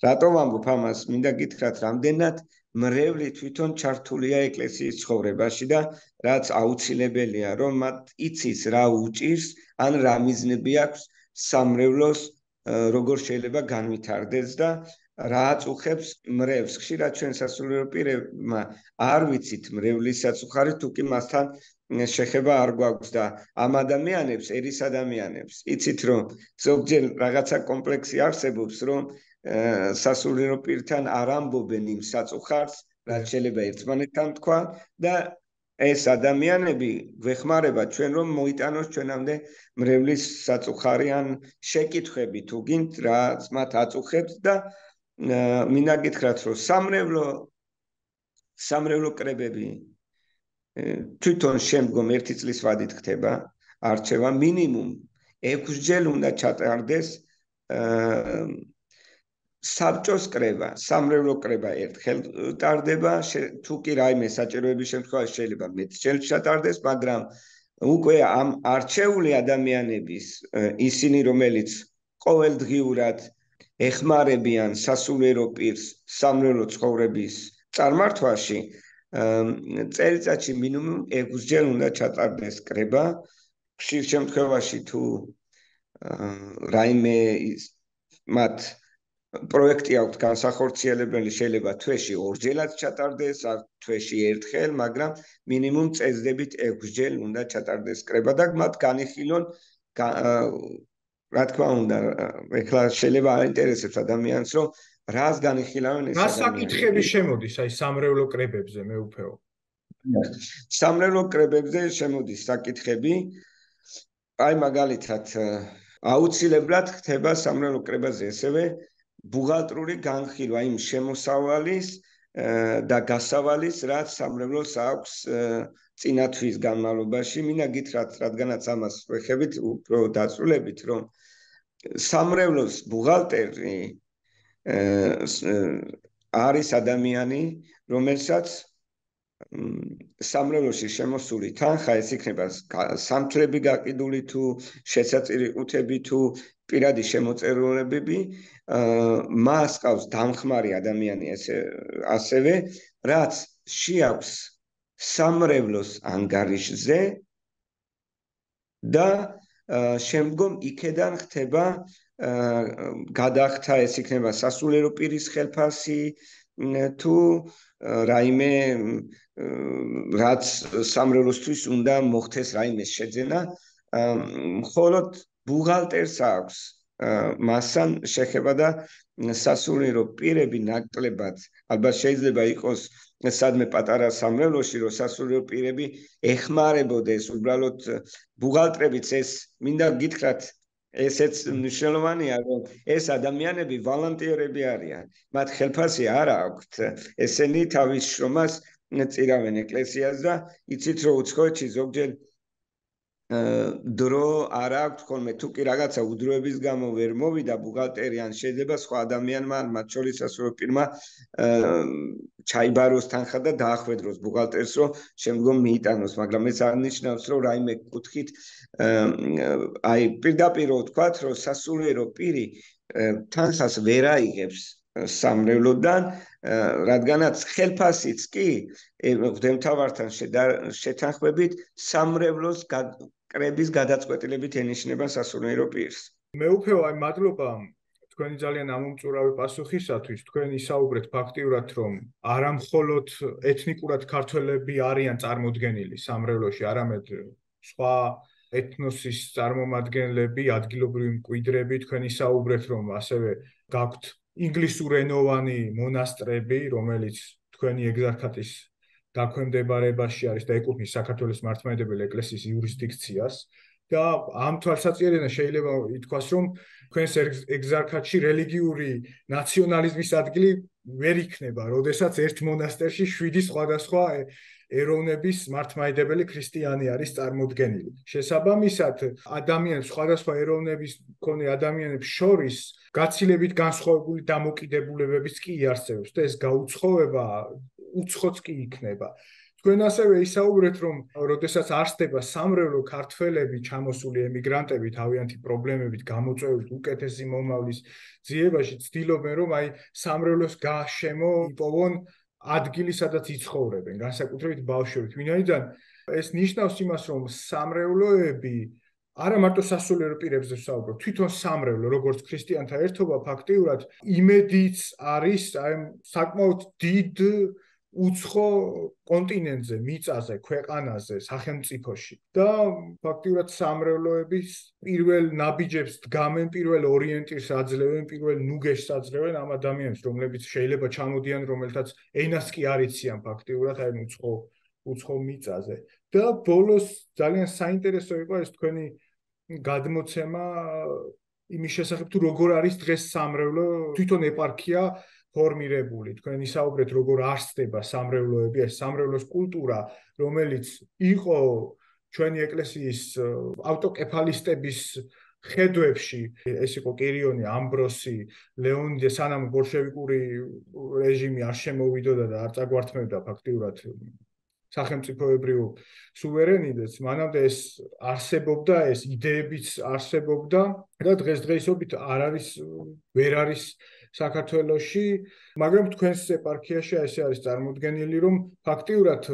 რატომ ვამბობ ამას? მინდა გითხრათ, რამდენად მრევლი თვითონ ჩართულია ეკლესიის ცხოვრებაში და რაც აუცილებელია, რომ მათ იცის რა უჭირს, ან რა მიზნები აქვს სამრევლოს როგორ შეიძლება განვითარდეს და რა აწუხებს მრევლს. ხშირად ჩვენ სასულიერო პირებმა არ ვიცით მრევლის საწუხარი, თუ კი მასთან შეხება არ გვაქვს და ამ ადამიანებს, ერის ადამიანებს, იცით რომ ზოგჯერ რაღაცა კომპლექსი არსებობს, რომ სასულიერო პირთან არ ამბობენ იმ საწუხარს, რაც შეიძლება ერთმანეთთან თქვა და ეს ადამიანები გვეხმარება ჩვენ რომ მოიტანოს ჩვენამდე მრევლის საწუხარი ან შეკითხვები თუ გინდ რაც მათ აწუხებს და მინდა გითხრათ რომ სამრევლო სამრევლო კრებები თვითონ შემდგომ ერთი წლის ვადით ხდება არჩევა მინიმუმ ექვსჯერ უნდა ჩატარდეს საბჭოს კრება, სამრევლო კრება ერთხელ ტარდება, თუ კი რაიმე საჭიროების შემთხვევაში შეიძლება მეტჯერ ჩატარდეს, მაგრამ უკვე ამ არჩეული ადამიანების ისინი, რომელიც ყოველდღიურად ეხმარებიან სასულიერო პირს სამრევლო ცხოვრების წარმართვაში, წელიწადში მინიმუმ ექვსჯერ უნდა ჩატარდეს კრება. ხშირ შემთხვევაში თუ რაიმე მათ პროექტი აქვს განსახორციელებელი, შეიძლება თვეში ორჯერაც ჩატარდეს, არ თვეში ერთხელ, მაგრამ მინიმუმ წესდებით ექვსჯერ უნდა ჩატარდეს კრება და მათ განიხილონ რა თქმა უნდა, ეხლა შეიძლება აინტერესებს ადამიანს, რომ რას განიხილავენ ეს ადამიანები. რა საკითხები შემოდის აი სამრევლო კრებებზე, მეუფეო? სამრევლო კრებებზე შემოდის საკითხები, აი მაგალითად, აუცილებლად ხდება სამრევლო კრებაზე ესევე ბუღალტრული განხილვა იმ შემოსავალის და გასავალის, რაც სამრევლოს აქვს წინა თვის განმავლობაში. მინდა გითხრათ, რადგანაც ამას ვეხებით, უფრო დაწვრილებით, რომ სამრევლოს ბუღალტერი არის ადამიანი, რომელსაც სამრევლოში შემოსული თანხა, ეს იქნება სამთლები გაყიდული თუ შესაწირიყუთები თუ პირადი შემოწირულობები, მას ყავს დამხმარე ადამიანი ასევე, რაც შეაქვს სამრევლოს ანგარიშზე და შემდგომ იქედან ხდება გადახდა, ეს იქნება სასულიერო პირის ხელფასი თუ რაიმე რაც სამრევლოსთვის უნდა მოხდეს რაიმე შეძენა, მხოლოდ ბუღალტერს აქვს მასთან შეხება და სასულიერო პირები ნაკლებად, ალბათ შეიძლება იყოს სადმე პატარა სამრევლოში, რომ სასულიერო პირები ეხმარებოდეს, უბრალოდ ბუღალტრებიც ეს მინდა გითხრათ, ესეც მნიშვნელოვანია, რომ ეს ადამიანები ვალანტიერები არიან. მათ ხელფასი არ აქვთ, ესენი თავის შრომას წირავენ ეკლესიას და იცით რომ უცხოეთში ზოგჯერ დრო არ აქვს ხოლმე, თუ კი რაღაცა უდროების გამო ვერ მოვიდა ბუღალტერი ან შეიძლება სხვა ადამიანმა, მათ შორის სასულიერო პირმა ჩაიბაროს თანხა და დაახვედროს ბუღალტერს, რომ შემდგომ მიიტანოს, მაგრამ ეს არ ნიშნავს, რომ რაიმე კუთხით აი პირდაპირ ვთქვათ, რომ სასულიერო პირი თანხას ვერ აიღებს სამრევლოდან, რადგანაც ხელფასიც კი მღვდელმთავართან შეთანხმებით სამრევლოს კრების გადაწყვეტილებით ენიშნება სასულიერო პირს. მეუფეო, აი მადლობა თქვენი ძალიან ამომწურავი პასუხისათვის. თქვენ ისაუბრეთ ფაქტიურად, რომ არა მხოლოდ ეთნიკურად ქართველები არიან წარმოდგენილი სამრევლოში, არამედ სხვა ეთნოსის წარმომადგენლები, ადგილობრივი მკვიდრები. თქვენ ისაუბრეთ, რომ ასევე გაქვთ ინგლისურენოვანი მონასტრები, რომელიც თქვენი ეგზარქატის დაქვემდებარებაში არის და ეკუთვნის საქართველოს მართლმადიდებელი ეკლესიის იურისდიქციას. და ამ თვალსაჩინოდან შეიძლება ითქვას, რომ თქვენს ეგზარქატში რელიგიური ნაციონალიზმის ადგილი ვერ იქნება, როდესაც ერთ მონასტერში შვიდი სხვადასხვა ეროვნების მართლმადიდებელი ქრისტიანი არის წარმოდგენილი. შესაბამისად, ადამიანებს სხვადასხვა ეროვნების მქონე ადამიანებს შორის გაცილებით განსხვავებული დამოკიდებულებებიც კი იარსებებს და ეს გაუცხოება უცხოც კი იქნება. თქვენ ასევე ისაუბრეთ, რომ როდესაც არსდება სამრევლო ქართველები, ჩამოსული ემიგრანტები თავიანთი პრობლემებით გამოწვევით უკეთესი მომავლის ძიებაში, ცდილობენ რომ აი სამრევლოს გააშემო იპოვონ ადგილი, სადაც იცხოვრებენ, განსაკუთრებით ბავშვებით. ვინაიდან ეს ნიშნავს იმას, რომ სამრევლოები არა მარტო სასულიერო პირებზე ვსაუბრობ, თვითონ სამრევლო, როგორც ქრისტიანთა ერთობა, ფაქტიურად იმედიც არის აი საკმაოდ დიდ უცხო კონტინენტზე, მიწაზე, ქვეყანაზე, სახელმწიფოში. და ფაქტიურად სამრევლოების პირველ ნაბიჯებს დგამენ, პირველ ორიენტირს აძლევენ, პირველ ნუგეშს აძლევენ ამ ადამიანებს, რომლებიც შეიძლება ჩამოდიან, რომელთაც ენას კი არ იციან ფაქტიურად აი უცხო უცხო მიწაზე. და ბოლოს ძალიან საინტერესო იყო ეს თქვენი გადმოცემა იმის შესახებ, თუ როგორ არის დღეს სამრევლო თვითონ ეპარქია ფორმირებული. თქვენ ისაუბრეთ, როგორ არსდება სამრევლოები, ეს სამრევლოს კულტურა, რომელიც იყო ჩვენი ეკლესიის ავტოკეფალისტების ხედვებში, ეს იყო კირიონი, ამბროსი, ლეონიდე, სანამ ბოლშევიკური რეჟიმი არ შემოვიდოდა და არ წაგვართმევდა ფაქტიურად სახელმწიფოებრივ სუვერენიტეტს, მანამდე ეს არსებობდა, ეს იდეებიც არსებობდა და დღესდღეობით არ არის, ვერ არის საქართველოში, მაგრამ თქვენს ეპარქიაში ესე არის წარმოდგენილი, რომ ფაქტიურად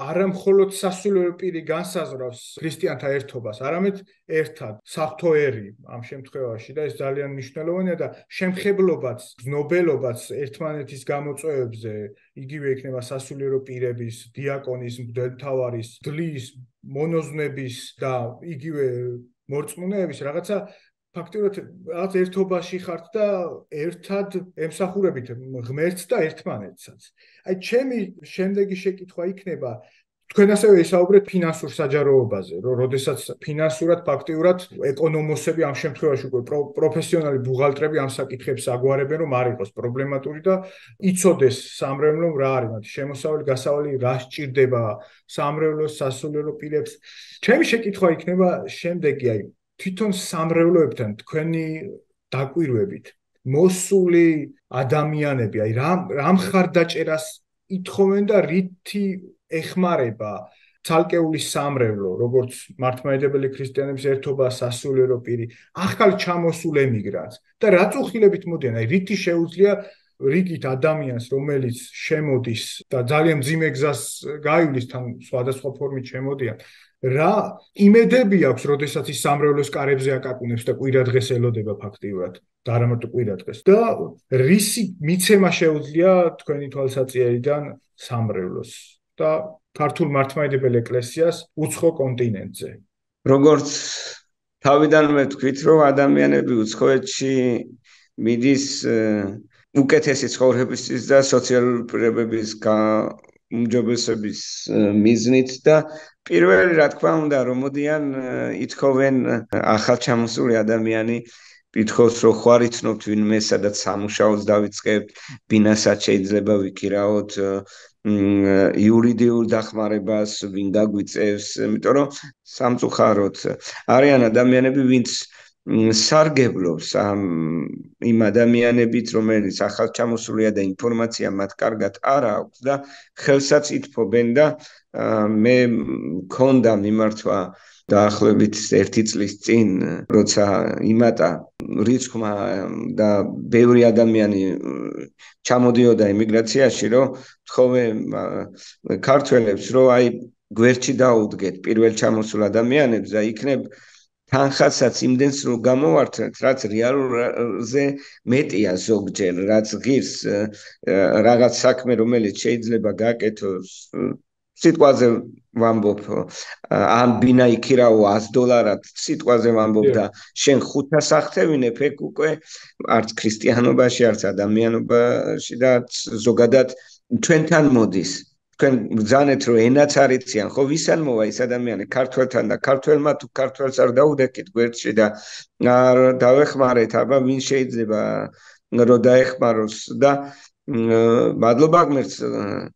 არა მხოლოდ სასულიერო პირი განსაზღვრავს ქრისტიანთა ერთობას, არამედ ერთად საღვთო ერი ამ შემთხვევაში და ეს ძალიან მნიშვნელოვანია და შემხებლობაც, გზნობელობაც ერთმანეთის გამოწვევებზე, იგივე იქნება სასულიერო პირების, დიაკონის, მღვდელმთავარის, დლის, მონოზვნების და იგივე მორწმუნეების რაღაცა ფაქტიურად რაღაც ერთობაში ხართ და ერთად ემსახურებით ღმერთს და ერთმანეთსაც. აი ჩემი შემდეგი შეკითხვა იქნება, თქვენ ასევე ისაუბრეთ ფინანსურ საჯაროობაზე, რომ როდესაც ფინანსურად ფაქტიურად ეკონომოსები ამ შემთხვევაში უკვე პროფესიონალი ბუღალტრები ამ საკითხებს აგვარებენ, რომ არ იყოს პრობლემატური და იცოდეს სამრევლომ რა არის მათი შემოსავალი, გასავალი, რა სჭირდება სამრევლოს, სასულიერო პირებს. ჩემი შეკითხვა იქნება შემდეგი, აი თვითონ სამრევლოებთან თქვენი დაკვირვებით მოსული ადამიანები, აი რა რა მხარდაჭერას ითხოვენ და რითი ეხმარება ცალკეული სამრევლო, როგორც მართლმადიდებელი ქრისტიანების ერთობა, სასულიერო პირი, ახალ ჩამოსულ ემიგრანტს და რა წუხილებით მოდიან, აი რითი შეუძლია რიგით ადამიანს, რომელიც შემოდის და ძალიან მძიმე გზას გაივლის, თან სხვადასხვა ფორმით შემოდიან, რა იმედები აქვს, როდესაც ის სამრევლოს კარებზე აკაკუნებს და კვირადღეს ელოდება ფაქტიურად და არა მარტო კვირადღეს და რისი მიცემა შეუძლია თქვენი თვალსაჩინოდან სამრევლოს და ქართულ მართლმადიდებელ ეკლესიას უცხო კონტინენტზე. როგორც თავიდანვე თქვით, რომ ადამიანები უცხოეთში მიდის უკეთესი ცხოვრებისთვის და სოციალური პირობების გაუმჯობესების მიზნით და პირველი რა თქმა უნდა რომ მოდიან ითხოვენ ახალჩამოსული ადამიანი ითხოვს რომ ხوار იცნობთ ვინმე სადაც სამუშაოს დავიწყებთ ბინასაც შეიძლება ვიქირაოთ იურიდიულ დახმარებას ვინ გაგვიწევს იმიტომ რომ სამწუხაროდ არიან ადამიანები ვინც სარგებლობს ამ იმ ადამიანებით რომელიც ახალჩამოსულია და ინფორმაცია მათ კარგად არ აქვს და ხელსაც ითფობენ და მე მქონდა მიმართვა დაახლოებით ერთი წლის წინ როცა იმატა რიცხვმა და ბევრი ადამიანი ჩამოდიოდა ემიგრაციაში რომ თხოვე ქართველებს რომ აი გვერდში დაუდგეთ პირველ ჩამოსულ ადამიანებს და იქნებ თანხასაც იმდენს რომ გამოვართეთ რაც რეალურზე მეტია ზოგჯერ რაც ღირს რაღაც საქმე რომელიც შეიძლება გაკეთოს სიტყვაზე ვამბობ ან ბინა იქირაო ას დოლარად სიტყვაზე ვამბობ და შენ ხუთას ახთევინებ ეგ უკვე არც ქრისტიანობაში არც ადამიანობაში და ზოგადად ჩვენთან მოდის თქვენ ბრძანეთ რომ ენაც არ იციან, ხო ვისან მოვა ეს ადამიანი ქართველთან და ქართველმა თუ ქართველს არ დაუდექით გვერდში და არ დავეხმარეთ, აბა ვინ შეიძლება რომ დაეხმაროს და მადლობა გმერთს,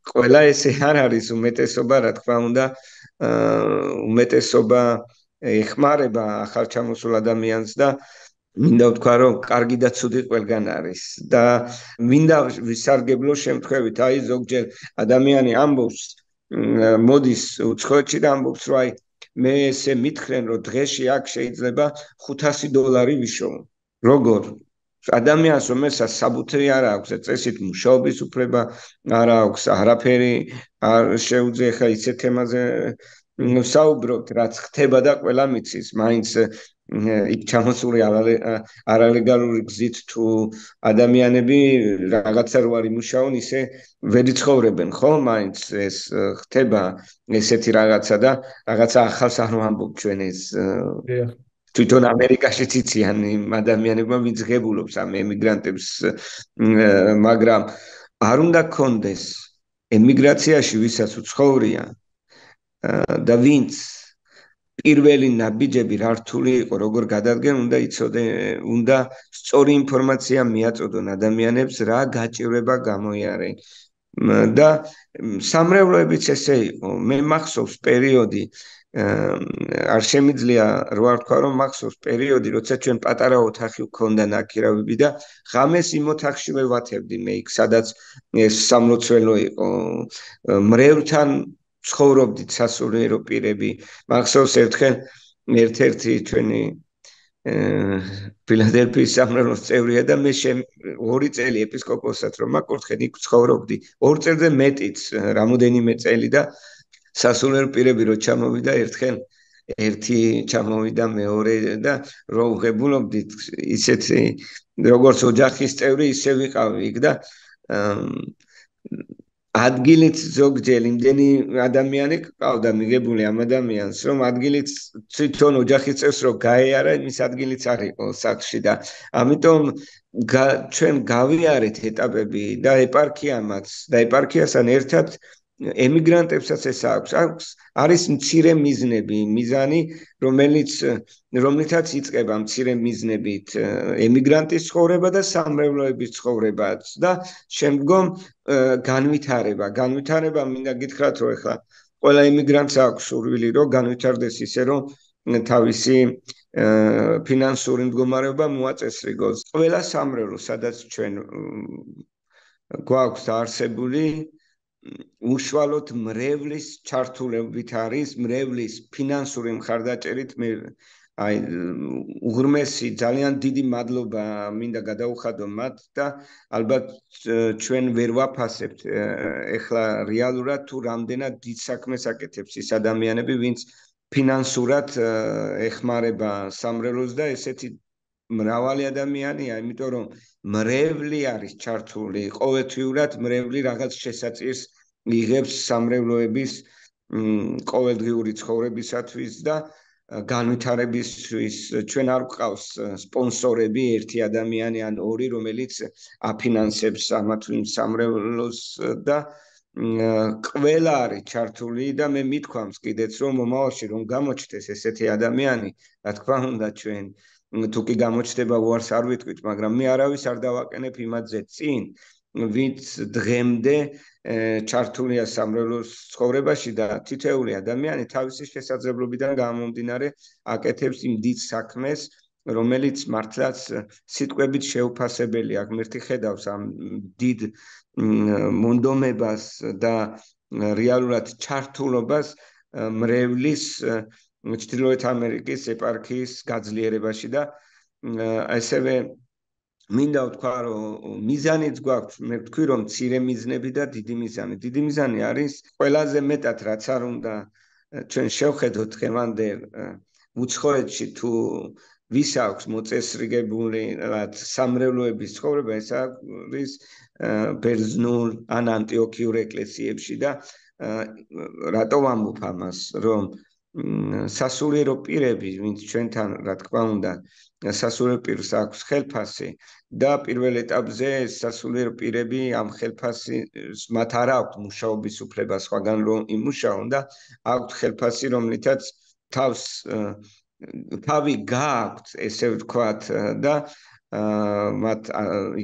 ყველა ესე არ არის უმეტესობა, რა თქმა უნდა, უმეტესობა ეხმარება ახალჩამოსულ ადამიანს და მინდა ვთქვა რომ კარგი და ცუდი ყველგან არის და მინდა ვისარგებლო შემთხვევით, აი ზოგჯერ ადამიანი ამბობს, მოდის უცხოეთში და ამბობს რომ აი მე ესე მითხრენ რომ დღეში აქ შეიძლება ხუთასი დოლარი ვიშოვო. როგორ? ადამიანს რომელსაც საბუთი არ აქვს, წესით მუშაობის უფლება არ აქვს, არაფერი არ შეუძლია ხა ისეთ თემაზე ვსაუბრობთ, რაც ხდება და ყველა მიცის, მაინც იქ ჩამოსული არალეგალური გზით თუ ადამიანები რაღაცა რო არ იმუშაონ, ისე ვერ იცხოვრებენ, ხო? მაინც ეს ხდება ესეთი რაღაცა და რაღაცა ახალს არ ვამბობ ჩვენ ეს თვითონ ამერიკაშიც იციან იმ ადამიანებმა ვინც ღებულობს ამ ემიგრანტებს, მაგრამ არ უნდა გქონდეს ემიგრაციაში ვისაც უცხოვრია და ვინც პირველი ნაბიჯები რა რთული იყო, როგორ გადადგენ, უნდა იცოდე, უნდა სწორი ინფორმაცია მიაწოდონ ადამიანებს, რა გაჭირვება გამოიარენ. და სამრევლოებიც ესე იყო. მე მახსოვს პერიოდი, არ შემიძლია რო არ თქვა, რომ მახსოვს პერიოდი, როცა ჩვენ პატარა ოთახი გქონდა ნაკირავები და ღამეს იმ ოთახში ვევათებდი მე იქ, სადაც ეს სამლოცველო იყო. მრევლთან ცხოვრობდით სასულიერო პირები. მახსოვს ერთხელ ერთ-ერთი ჩვენი ფილადელფიის სამრევლოს წევრია და მე ორი წელი ეპისკოპოსად რომ მაკურთხენ იქ ცხოვრობდი. ორ წელზე მეტიც, რამოდენიმე წელი და სასულიერო პირები რო ჩამოვიდა ერთხელ ერთი ჩამოვიდა მეორე და რო ვღებულობდით ისეთი როგორც ოჯახის წევრი ისე ვიყავი იქ და ადგილით ზოგჯერ იმდენი ადამიანი ყავდა მიგებული ამ ადამიანს, რომ ადგილით თვითონ ოჯახის წევს რო გაეარა, იმის ადგილიც არ იყო სახლში და ამიტომ ჩვენ გავიარეთ ეტაპები და ეპარქიამაც და ეპარქიასთან ერთად ემიგრანტებსაც ეს აქვს, აქვს არის მცირე მიზნები, მიზანი, რომელიც რომლითაც იწყება მცირე მიზნებით ემიგრანტის ცხოვრება და სამრევლოების ცხოვრებაც და შემდგომ განვითარება. განვითარება მინდა გითხრათ, რომ ეხლა ყველა ემიგრანტს აქვს სურვილი, რომ განვითარდეს ისე, რომ თავისი ფინანსური მდგომარეობა მოაწესრიგოს. ყველა სამრევლო, სადაც ჩვენ გვაქვს დაარსებული უშუალოდ მრევლის ჩართულობით არის, მრევლის ფინანსური მხარდაჭერით მე აი უღრმესი ძალიან დიდი მადლობა მინდა გადაუხადო მათ და ალბათ ჩვენ ვერ ვაფასებთ ეხლა რეალურად თუ რამდენად დიდ საქმეს აკეთებს ის ადამიანები, ვინც ფინანსურად ეხმარება სამრევლოს და ესეთი მრავალი ადამიანია, იმიტომ რომ მრევლი არის ჩართული, ყოველთვიურად მრევლი რაღაც შესაწირს იღებს სამრევლოების ყოველდღიური ცხოვრებისათვის და განვითარებისთვის. ჩვენ არ გვყავს სპონსორები, ერთი ადამიანი ან ორი, რომელიც აფინანსებს ამა თუ იმ სამრევლოს და ყველა არის ჩართული და მე მithქვამს კიდეც რომ მომავალში რომ გამოჩნდეს ესეთი ადამიანი, რა თქმა უნდა ჩვენ თუ კი გამოჩნდება უარს არ ვიტყვით, მაგრამ მე არავის არ დავაყენებ იმადზე წინ, ვინც დღემდე ჩართულია სამრევლოს ცხოვრებაში და თითოეული ადამიანი თავისი შესაძლებლობიდან გამომდინარე აკეთებს იმ დიდ საქმეს, რომელიც მართლაც სიტყვებით შეუფასებელია. ღმერთი ხედავს ამ დიდ მონდომებას და რეალურად ჩართულობას მრევლის ჩრდილოეთ ამერიკის ეპარქიის გაძლიერებაში და ასევე მინდა ვთქვა, რომ მიზანიც გვაქვს, მე ვთქვი, რომ მცირე მიზნები და დიდი მიზანი. დიდი მიზანი არის ყველაზე მეტად, რაც არ უნდა ჩვენ შევხედოთ დღევანდელ უცხოეთში თუ ვის აქვს მოწესრიგებული რაც სამრევლოების ცხოვრება, ეს არის ბერძნულ ან ანტიოქიურ ეკლესიებში და რატო ვამბობ ამას, რომ სასულიერო პირები, ვინც ჩვენთან, რა თქმა უნდა, სასულიერო პირს აქვს ხელფასი და პირველ ეტაპზე სასულიერო პირები ამ ხელფასის მათ არ აქვთ მუშაობის უფლება სხვაგან რომ იმუშაონ და აქვთ ხელფასი რომლითაც თავს თავი გააქვთ ესე ვთქვათ და მათ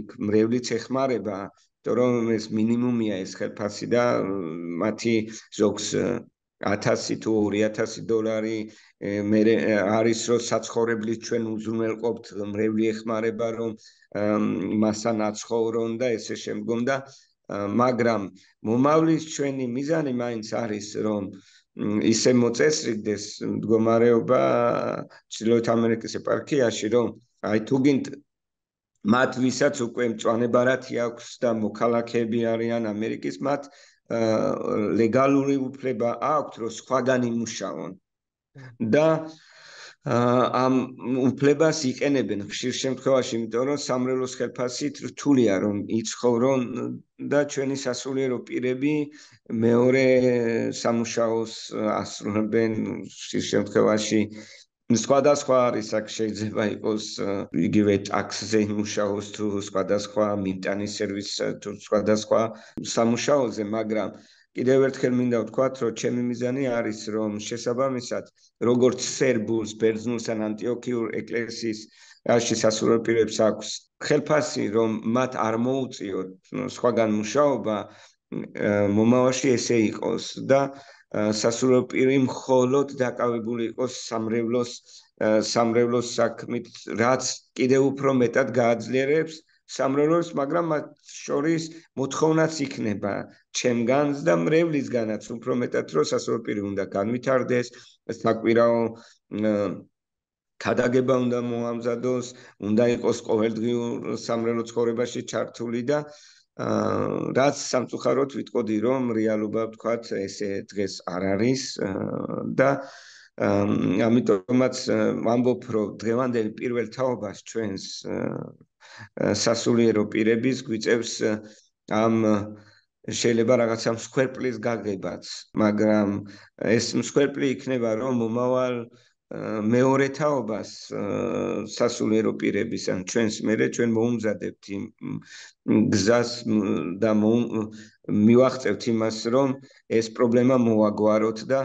იქ მრევლიც ეხმარება რომ ეს მინიმუმია ეს ხელფასი და მათი ზოგს ათასი თუ ორი ათასი დოლარი მე არის რომ საცხოვრებლის ჩვენ უზრუნველყოფთ მრევლი ეხმარება რომ მასთან აცხოვრონ და ესე შემდგომ და მაგრამ მომავლის ჩვენი მიზანი მაინც არის რომ ისე მოწესრიგდეს მდგომარეობა ჩრდილოეთ ამერიკის ეპარქიაში რომ აი თუ გინდ მათ ვისაც უკვე მწვანებარათი აქვს და მოქალაქეები არიან ამერიკის მათ ლეგალური უფლება აქვთ რომ სხვაგან იმუშაონ და ამ უფლებას იყენებენ ხშირ შემთხვევაში იმიტომ რომ სამრევლოს ხელფასით რთულია რომ იცხოვრონ და ჩვენი სასულიერო პირები მეორე სამუშაოს ასრულებენ ხშირ შემთხვევაში სხვადასხვა არის აქ შეიძლება იყოს იგივე ტაქსზე იმუშაოს თუ სხვადასხვა მიმტანის სერვისზე თუ სხვადასხვა სამუშაოზე მაგრამ კიდევ ერთხელ მინდა ვთქვათ რომ ჩემი მიზანი არის რომ შესაბამისად როგორც სერბულს ბერძნულს ან ანტიოქიურ ეკლესიის რაში სასულიერო პირებს აქვს ხელფასი რომ მათ არ მოუწიოთ სხვაგან მუშაობა მომავალში ესე იყოს და სასულიერო პირი მხოლოდ დაკავებული იყოს სამრევლოს სამრევლოს საქმით რაც კიდევ უფრო მეტად გააძლიერებს სამრევლოს მაგრამ მათ შორის მოთხოვნაც იქნება ჩემგანს და მრევლისგანაც უფრო მეტად რომ სასულიერო პირი უნდა განვითარდეს საკვირაო ქადაგება უნდა მოამზადოს უნდა იყოს ყოველდღიურ სამრევლო ცხოვრებაში ჩართული და რაც სამწუხაროდ ვიტყოდი რომ რეალობა ვთქვათ ესე დღეს არ არის და ამიტომაც ვამბობ რომ დღევანდელი პირველ თაობას ჩვენს სასულიერო პირების გვიწევს ამ შეიძლება რაღაცა მსხვერპლის გაგებაც მაგრამ ეს მსხვერპლი იქნება რომ მომავალ მეორე თაობას სასულიერო პირების ან ჩვენს მერე ჩვენ მოუმზადებთ იმ გზას და მივახწევთ იმას რომ ეს პრობლემა მოვაგვაროთ და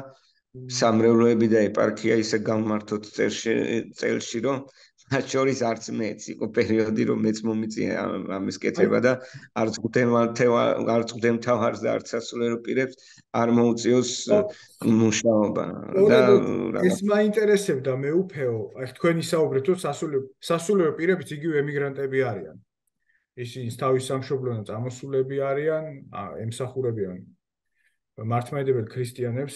სამრევლოები და ეპარქია ისე გამართოთ წელში რომ მათ შორის არც მეც იყო პერიოდი რომ მეც მომიწია ამის კეთება და არც არც მთავარს და არც სასულიერო პირებს არ მოუწიოს მუშაობა და ეს მაინტერესებდა მე უფეო აი თქვენ ისაუბრეთ რომ სასულიერო პირებიც იგივე ემიგრანტები არიან ისინი თავის სამშობლოდან წამოსულები არიან ემსახურებიან მართლმადიდებელ ქრისტიანებს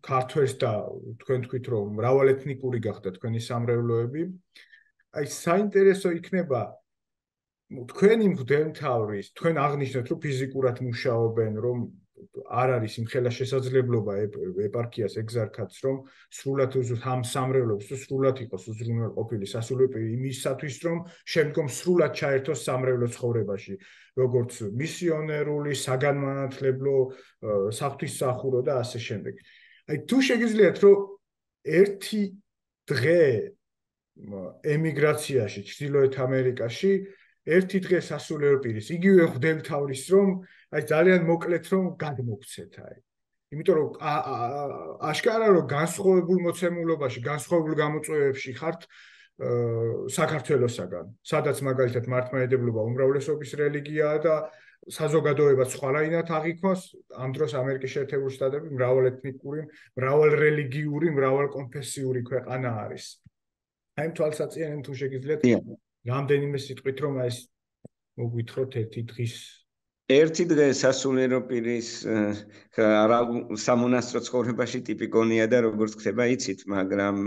ქართველს და თქვენ თქვით რომ მრავალეთნიკური გახდა თქვენი სამრევლოები აი საინტერესო იქნება თქვენი მღვდელმთავრის თქვენ აღნიშნეთ რომ ფიზიკურად მუშაობენ რომ არ არის იმხელა შესაძლებლობა ეპარქიას ეგზარქაც რომ სრულად ამ სამრევლობს თუ სრულად იყოს უზრუნველყოფილი სასულიერო პირი იმისათვის რომ შემდგომ სრულად ჩაერთოს სამრევლო ცხოვრებაში როგორც მისიონერული საგანმანათლებლო საღვთისმსახურო და ასე შემდეგ აი თუ შეგიძლიათ რომ ერთი დღე ემიგრაციაში ჩრდილოეთ ამერიკაში ერთი დღე სასულიერო პირის იგივე მღვდელმთავრის რომ აი ძალიან მოკლედ რომ გადმოგცეთ აი იმიტომ რომ აშკარა რომ განსხვავებულ მოცემულობაში განსხვავებულ გამოწვევებში ხართ საქართველოსაგან სადაც მაგალითად მართლმადიდებლობა უმრავლესობის რელიგიაა და საზოგადოებაც სხვანაირად აღიქვას ამ დროს ამერიკის შეერთებული შტატები მრავალეთნიკური მრავალრელიგიური მრავალკონფესიური ქვეყანა არის აი თვალსაჩინო თუ შეგიძლიათ რამდენიმე სიტყვით რომ ეს მოგვითხროთ ერთი დღის ერთი დღე სასულიერო პირის სამონასტრო ცხოვრებაში ტიპიკონია და როგორც ხდება იცით მაგრამ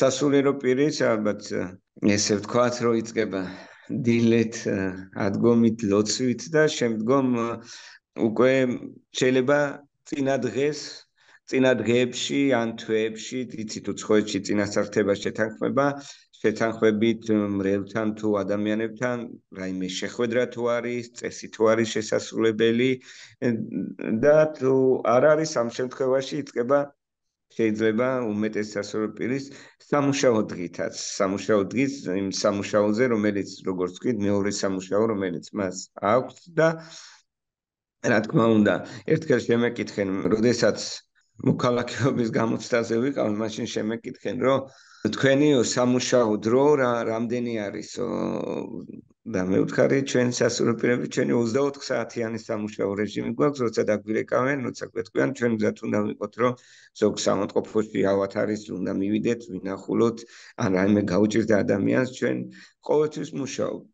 სასულიერო პირის ალბათ ესე ვთქვათ რომ იწყება დილით ადგომით ლოცვით და შემდგომ უკვე შეიძლება წინა დღეს წინა დღეებში ან თვეებში იცით უცხოეთში წინასწარ შეთანხმება შეთანხმებით მრევლთან თუ ადამიანებთან რაიმე შეხვედრა თუ არის წესი თუ არის შესასრულებელი და თუ არ არის ამ შემთხვევაში იწყება შეიძლება უმეტეს სასულიერო პირის სამუშაო დღითაც, სამუშაო დღის იმ სამუშაოზე, რომელიც როგორც ვთქვით, მეორე სამუშაო, რომელიც მას აქვს და რა თქმა უნდა, ერთხელ შემეკითხენ, როდესაც მოქალაქეობის გამოცდაზე ვიყავ, მაშინ შემეკითხენ, რომ თქვენი სამუშაო დრო რა რამდენი არისო? და მე ვთქარი, ჩვენ სასულიერო პირები, ჩვენი ოცდაოთხ საათიანი სამუშაო რეჟიმი გვაქვს, როცა დაგვირეკავენ, როცა გვეთქვიან, ჩვენ მზად უნდა ვიყოთ, რომ ზოგ სამოწყოფოში ავათ არის, უნდა მივიდეთ, ვინახულოთ, ან რაიმე გაუჭირდა ადამიანს, ჩვენ ყოველთვის მუშაობთ.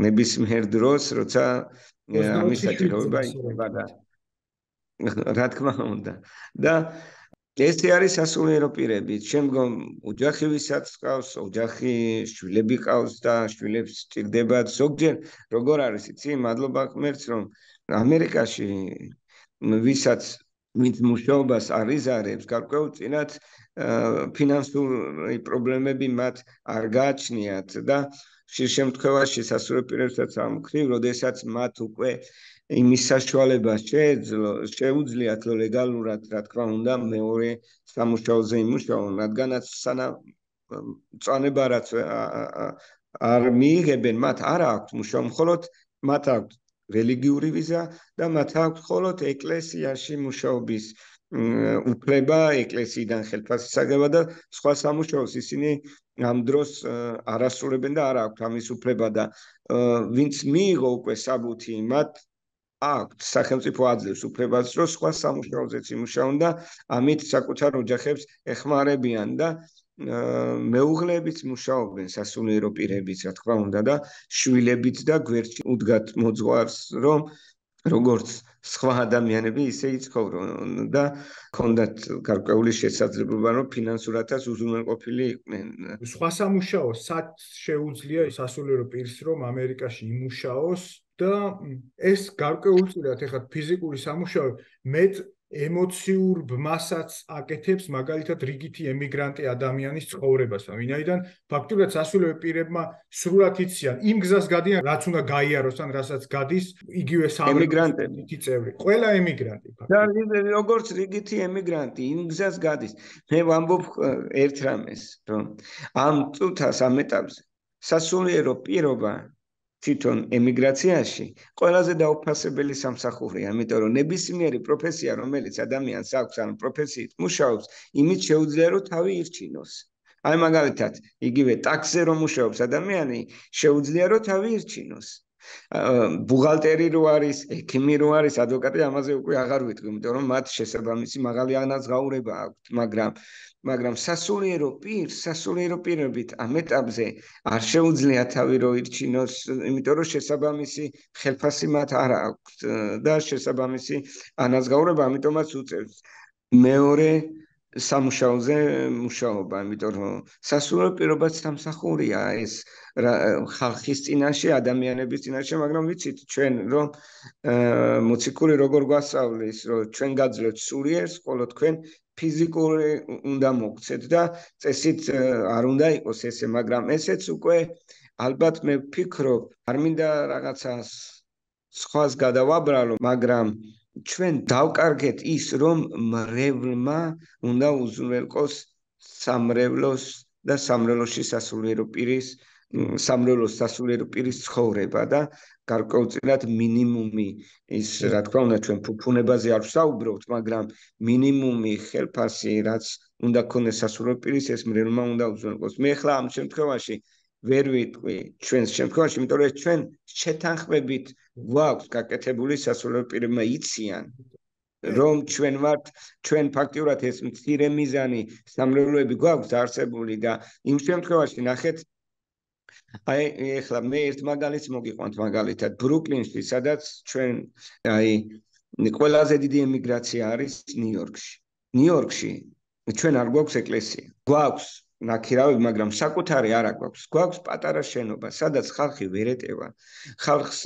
ნებისმიერ დროს, როცა ამის საჭიროება იქნება და რა თქმა უნდა. და ესე არის სასულიერო პირები. შემდგომ ოჯახი ვისაც ყავს, ოჯახი შვილები ყავს და შვილებს სჭირდებათ. ზოგჯერ როგორ არის, იცი, მადლობა ღმერთს, რომ ამერიკაში ვისაც ვინც მუშაობას არ იზარებს, გარკვეულწილად ფინანსური პრობლემები მათ არ გააჩნიათ და ხშირ შემთხვევაში სასულიერო პირებსაც ამ მხრივ, როდესაც მათ უკვე იმის საშუალება შეუძლიათ ლეგალურად, რა თქმა უნდა, მეორე სამუშაოზე იმუშაონ, რადგანაც სანამ მწვანება რაც არ მიიღებენ, მათ არ აქვთ მუშაობა, მხოლოდ მათ აქვთ რელიგიური ვიზა და მათ აქვთ მხოლოდ ეკლესიაში მუშაობის უფლება, ეკლესიიდან ხელფასის აგება და სხვა სამუშაოს ისინი ამ დროს არ ასრულებენ და არ აქვთ ამის უფლება და ვინც მიიღო უკვე საბუთი, მათ აქვთ სახელმწიფო აძლევს უფლებას, რომ სხვა სამუშაოზეც იმუშაონ და ამით საკუთარ ოჯახებს ეხმარებიან და მეუღლეებიც მუშაობენ, სასულიერო პირებიც, რა თქმა უნდა და შვილებიც და გვერდში უდგათ მოძღვარს, რომ როგორც სხვა ადამიანები ისე იცხოვრონ და ქონდათ გარკვეული შესაძლებლობა, რომ ფინანსურადაც უზრუნველყოფილი იყვნენ. სხვა სამუშაო სად შეუძლია სასულიერო პირს, რომ ამერიკაში იმუშაოს და ეს გარკვეულწილად ეხლა ფიზიკური სამუშაო მეტ ემოციურ ბმასაც აკეთებს მაგალითად რიგითი ემიგრანტი ადამიანის ცხოვრებასა, ვინაიდან ფაქტობრივად სასულიერო პირებმა სრულად იციან იმ გზას გადიან, რაც უნდა გაიაროს ან რასაც გადის იგივე ემიგრანტები წევრი. ყველა ემიგრანტი ფაქტობრივად. და როგორც რიგითი ემიგრანტი იმ გზას გადის. მე ვამბობ ერთ რამეს, რომ ამ წუთას ამ ეტაპზე სასულიერო პირობა თვითონ ემიგრაციაში ყველაზე დაუფასებელი სამსახურია, იმიტომ რომ ნებისმიერი პროფესია, რომელიც ადამიანს აქვს, ან პროფესიით მუშაობს, იმით შეუძლია რომ თავი ირჩინოს. აი მაგალითად, იგივე ტაქსზე რომ მუშაობს ადამიანი, შეუძლია რომ თავი ირჩინოს. ბუღალტერი რო არის, ექიმი რო არის, ადვოკატი ამაზე უკვე აღარ ვიტყვი, იმიტომ რომ მათ შესაბამისი მაღალი ანაზღაურება აქვთ, მაგრამ მაგრამ სასულიერო პირს, სასულიერო პირობით ამ ეტაპზე არ შეუძლია თავი რო ირჩინოს, იმიტომ რომ შესაბამისი ხელფასი მათ არ აქვთ და შესაბამისი ანაზღაურება, ამიტომაც უწევს მეორე სამუშაოზე მუშაობა, იმიტომ რომ სასულიერო პირობაც სამსახურია ეს ხალხის წინაშე, ადამიანების წინაშე, მაგრამ ვიცით ჩვენ რომ მოციქული როგორ გვასწავლის, რომ ჩვენ გაძლევთ სულიერს, ხოლო თქვენ ფიზიკური უნდა მოგცეთ და წესით არ უნდა იყოს ესე, მაგრამ ესეც უკვე ალბათ მე ვფიქრობ, არ მინდა რაღაცას სხვას გადავაბრალო, მაგრამ ჩვენ დავკარგეთ ის, რომ მრევლმა უნდა უზრუნველყოს სამრევლოს და სამრევლოში სასულიერო პირის, სამრევლოს სასულიერო პირის ცხოვრება და გარკვეულწილად მინიმუმი ის, რა თქმა უნდა, ჩვენ ფუფუნებაზე არ ვსაუბრობთ, მაგრამ მინიმუმი ხელფასი, რაც უნდა ქონდეს სასულიერო პირის, ეს მრევლმა უნდა უზრუნველყოს. მე ახლა ამ შემთხვევაში ვერ ვიტყვი ჩვენს შემთხვევაში, იმიტომ რომ ჩვენ შეთანხმებით გვაქვს გაკეთებული სასულიერო პირებმა იციან, რომ ჩვენ ვართ, ჩვენ ფაქტიურად ეს მცირე მიზანი სამრევლოები გვაქვს დაარსებული და იმ შემთხვევაში ნახეთ, აი ეხლა მე ერთ მაგალითს მოგიყვანთ მაგალითად ბრუკლინში, სადაც ჩვენ აი ყველაზე დიდი ემიგრაცია არის ნიუ-იორკში. ნიუ-იორკში ჩვენ არ გვაქვს ეკლესია. გვაქვს ნაქირავები, მაგრამ საკუთარი არ გვაქვს. გვაქვს პატარა შენობა, სადაც ხალხი ვერ ეტევა. ხალხს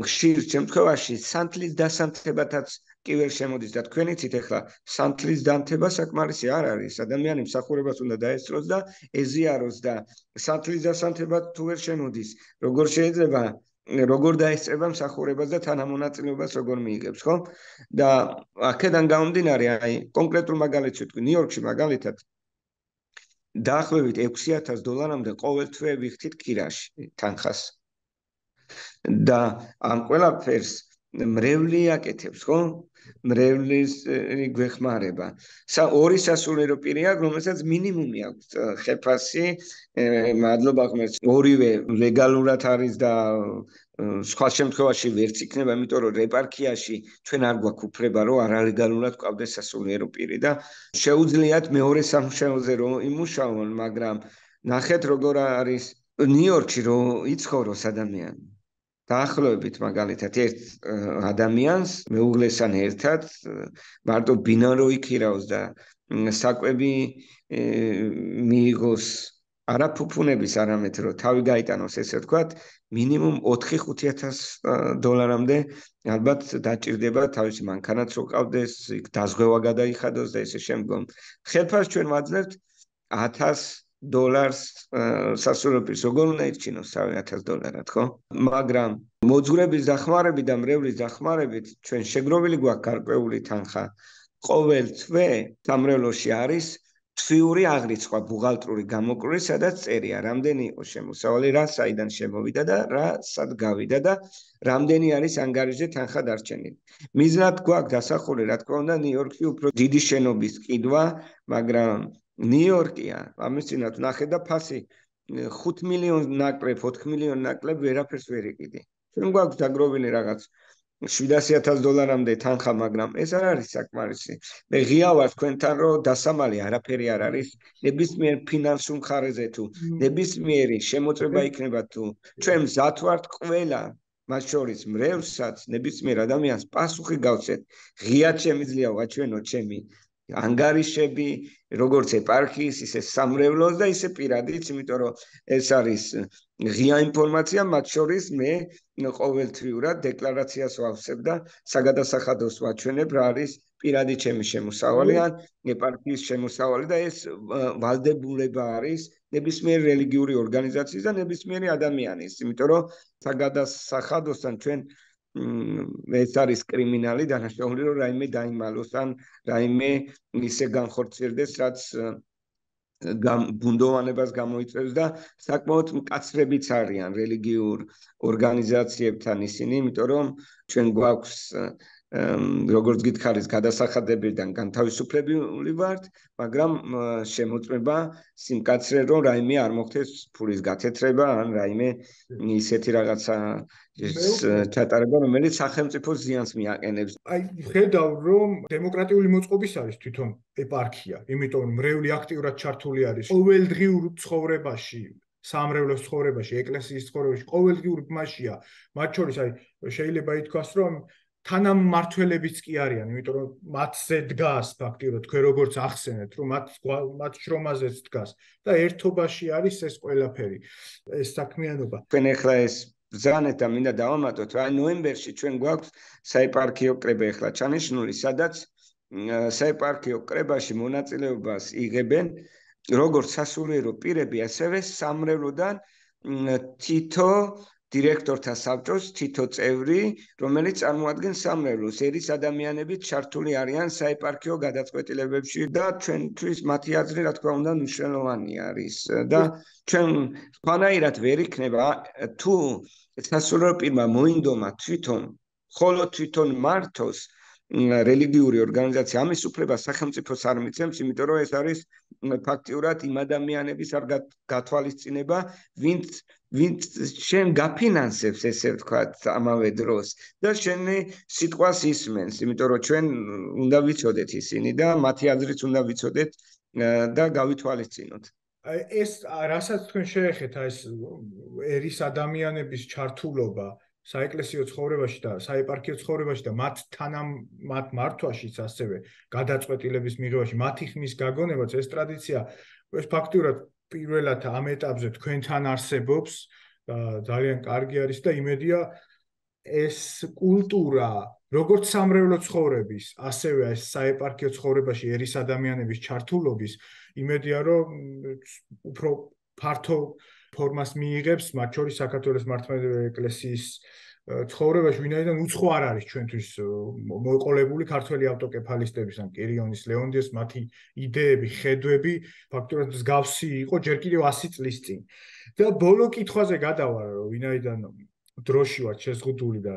ხშირ შემთხვევაში სანთლის დასანთებათაც კი ვერ შემოდის და თქვენ იცით ახლა სანთლის დამთება საკმარისი არ არის. ადამიანი მსახურებას უნდა დაესწროს და ეზიაროს და სანთლის დასანთებად თუ ვერ შემოდის, როგორ შეიძლება როგორ დაესწრება მსახურებას და თანამონაწილეობას როგორ მიიღებს, ხო? და აქედან გამომდინარე, აი, კონკრეტულ მაგალითს ვიტყვი, ნიუ-იორკში მაგალითად დაახლოებით ექვსი ათას დოლარამდე ყოველ თვე ვიხდით კირაში თანხას. და ამ ყველაფერს მრევლი აკეთებს, ხო? მრევლის გვეხმარება. ორი სასულიერო პირი აქვს, რომელსაც მინიმუმი აქვს ხელფასი, მადლობა ღმერთს, ორივე ლეგალურად არის და სხვა შემთხვევაში ვერც იქნება, იმიტომ რომ ეპარქიაში ჩვენ არ გვაქვს უფლება, რომ არალეგალურად გვყავდეს სასულიერო პირი და შეუძლიათ მეორე სამუშაოზე რომ იმუშაონ, მაგრამ ნახეთ როგორ არის ნიუ-იორკში რომ იცხოვროს ადამიანი. დაახლოებით მაგალითად ერთ ადამიანს მეუღლესთან ერთად მარტო ბინარო იქირავს და საკვები მიიღოს არა ფუფუნების, არამედ რომ თავი გაიტანოს, ესე ვთქვათ, მინიმუმ ოთხი ხუთი ათას დოლარამდე ალბათ დაჭირდება თავისი მანქანაც რო ყავდეს, იქ დაზღვევა გადაიხადოს და ესე შემდგომ. ხელფასს ჩვენ ვაძლევთ ათას დოლარს სასულიერო პირს, როგორ უნდა ირჩინოს თავი ათას დოლარად, ხო? მაგრამ მოძღვრების დახმარებით და მრევლის დახმარებით ჩვენ შეგროვილი გვაქვს გარკვეული თანხა. ყოველ თვე სამრევლოში არის თვიური აღრიცხვა, ბუღალტრური გამოკვლევი, სადაც წერია, რამდენი იყო შემოსავალი, რა საიდან შემოვიდა და რა სად გავიდა და რამდენი არის ანგარიშზე თანხა დარჩენილი. მიზნად გვაქვს დასახული, რა თქმა უნდა, ნიუ-იორკში უფრო დიდი შენობის ყიდვა, მაგრამ ნიუ-იორკია, ამის წინათ ნახე და ფასი ხუთ მილიონს ნაკლებ, ოთხ მილიონს ნაკლებ ვერაფერს ვერ იყიდი. ჩვენ გვაქვს დაგროვილი რაღაც შვიდასი ათას დოლარამდე თანხა, მაგრამ ეს არ არის საკმარისი. მე ღია ვარ თქვენთან, რომ დასამალი არაფერი არ არის, ნებისმიერ ფინანსურ მხარეზე თუ ნებისმიერი შემოწმება იქნება თუ ჩვენ მზად ვართ ყველა, მათ შორის მრევლსაც, ნებისმიერ ადამიანს პასუხი გავცეთ. ღიად შემიძლია ვაჩვენოთ ჩემი ანგარიშები, როგორც ეპარქიის, ისე სამრევლოს და ისე პირადიც, იმიტომ რომ ეს არის ღია ინფორმაცია, მათ შორის მე ყოველთვიურად დეკლარაციას ვავსებ და საგადასახადოს ვაჩვენებ, რა არის პირადი ჩემი შემოსავალი ან ეპარქიის შემოსავალი და ეს ვალდებულება არის ნებისმიერ რელიგიური ორგანიზაციის და ნებისმიერი ადამიანის, იმიტომ რომ საგადასახადოსთან ჩვენ ეს არის კრიმინალი დანაშაული, რომ რაიმე დაიმალოს ან რაიმე ისე განხორციელდეს, რაც ბუნდოვანებას გამოიწვევს და საკმაოდ მკაცრებიც არიან რელიგიურ ორგანიზაციებთან ისინი, იმიტომ რომ ჩვენ გვაქვს როგორც გითხარით, გადასახადებიდან განთავისუფლებული ვართ, მაგრამ შემოწმება სიმკაცრე, რომ რაიმე არ მოხდეს ფულის გათეთრება ან რაიმე ისეთი რაღაცა ჩატარება, რომელიც სახელმწიფოს ზიანს მიაყენებს. აი, ხედავ, რომ დემოკრატიული მოწყობის არის თვითონ ეპარქია, იმიტომ რომ მრევლი აქტიურად ჩართული არის ყოველდღიურ ცხოვრებაში, სამრევლოს ცხოვრებაში, ეკლესიის ცხოვრებაში, ყოველდღიურ ბმაშია. მათ შორის აი შეიძლება ითქვას, რომ თანამმართველებიც კი არიან, იმიტომ რომ მათზე დგას ფაქტიურად, თქვენ როგორც ახსენეთ, რომ მათ მათ შრომაზეც დგას და ერთობაში არის ეს ყველაფერი, ეს საქმიანობა. თქვენ ახლა ეს ბრძანეთ და მინდა დავამატოთ, აი ნოემბერში ჩვენ გვაქვს საეპარქიო კრება ახლა ჩანიშნული, სადაც საეპარქიო კრებაში მონაწილეობას იღებენ როგორც სასულიერო პირები, ასევე სამრევლოდან თითო დირექტორთა საბჭოს თითო წევრი, რომელიც წარმოადგენს სამრევლოს, ერის ადამიანები ჩართული არიან საეპარქიო გადაწყვეტილებებში და ჩვენთვის მათი აზრი, რა თქმა უნდა, მნიშვნელოვანი არის და ჩვენ სხვანაირად ვერ იქნება თუ სასულიერო პირმა მოინდომა თვითონ, ხოლო თვითონ მართოს რელიგიური ორგანიზაცია, ამის უფლება სახელმწიფოს არ მიცემს, იმიტომ რომ ეს არის ფაქტიურად იმ ადამიანების არ გათვალისწინება, ვინც ვინც შენ გაფინანსებს, ესე ვთქვათ, ამავე დროს და შენი სიტყვას ისმენს, იმიტომ რომ ჩვენ უნდა ვიცოდეთ ისინი და მათი აზრიც უნდა ვიცოდეთ და გავითვალისწინოთ. ეს რასაც თქვენ შეეხეთ, ეს ერის ადამიანების ჩართულობა საეკლესიო ცხოვრებაში და საეპარქიო ცხოვრებაში და მათ თანამ მათ მართვაშიც ასევე გადაწყვეტილების მიღებაში მათი ხმის გაგონებაც ეს ტრადიცია ეს ფაქტურად პირველად ამ ეტაპზე თქვენთან არსებობს და ძალიან კარგი არის და იმედია ეს კულტურა როგორც სამრევლო ცხოვრების ასევე ეს საეპარქიო ცხოვრებაში ერის ადამიანების ჩართულობის იმედია რომ უფრო ფართო ფორმას მიიღებს, მათ შორის საქართველოს მართლმადიდებელი ეკლესიის ცხოვრებაში, ვინაიდან უცხო არ არის ჩვენთვის მოყოლებული ქართველი ავტოკეფალისტების ან კირიონის, ლეონტიოს მათი იდეები, ხედვები ფაქტობრივად მსგავსი იყო ჯერ კიდევ ასი წლის წინ. და ბოლო კითხვაზე გადავალ, ვინაიდან დროში ვარ შეზღუდული და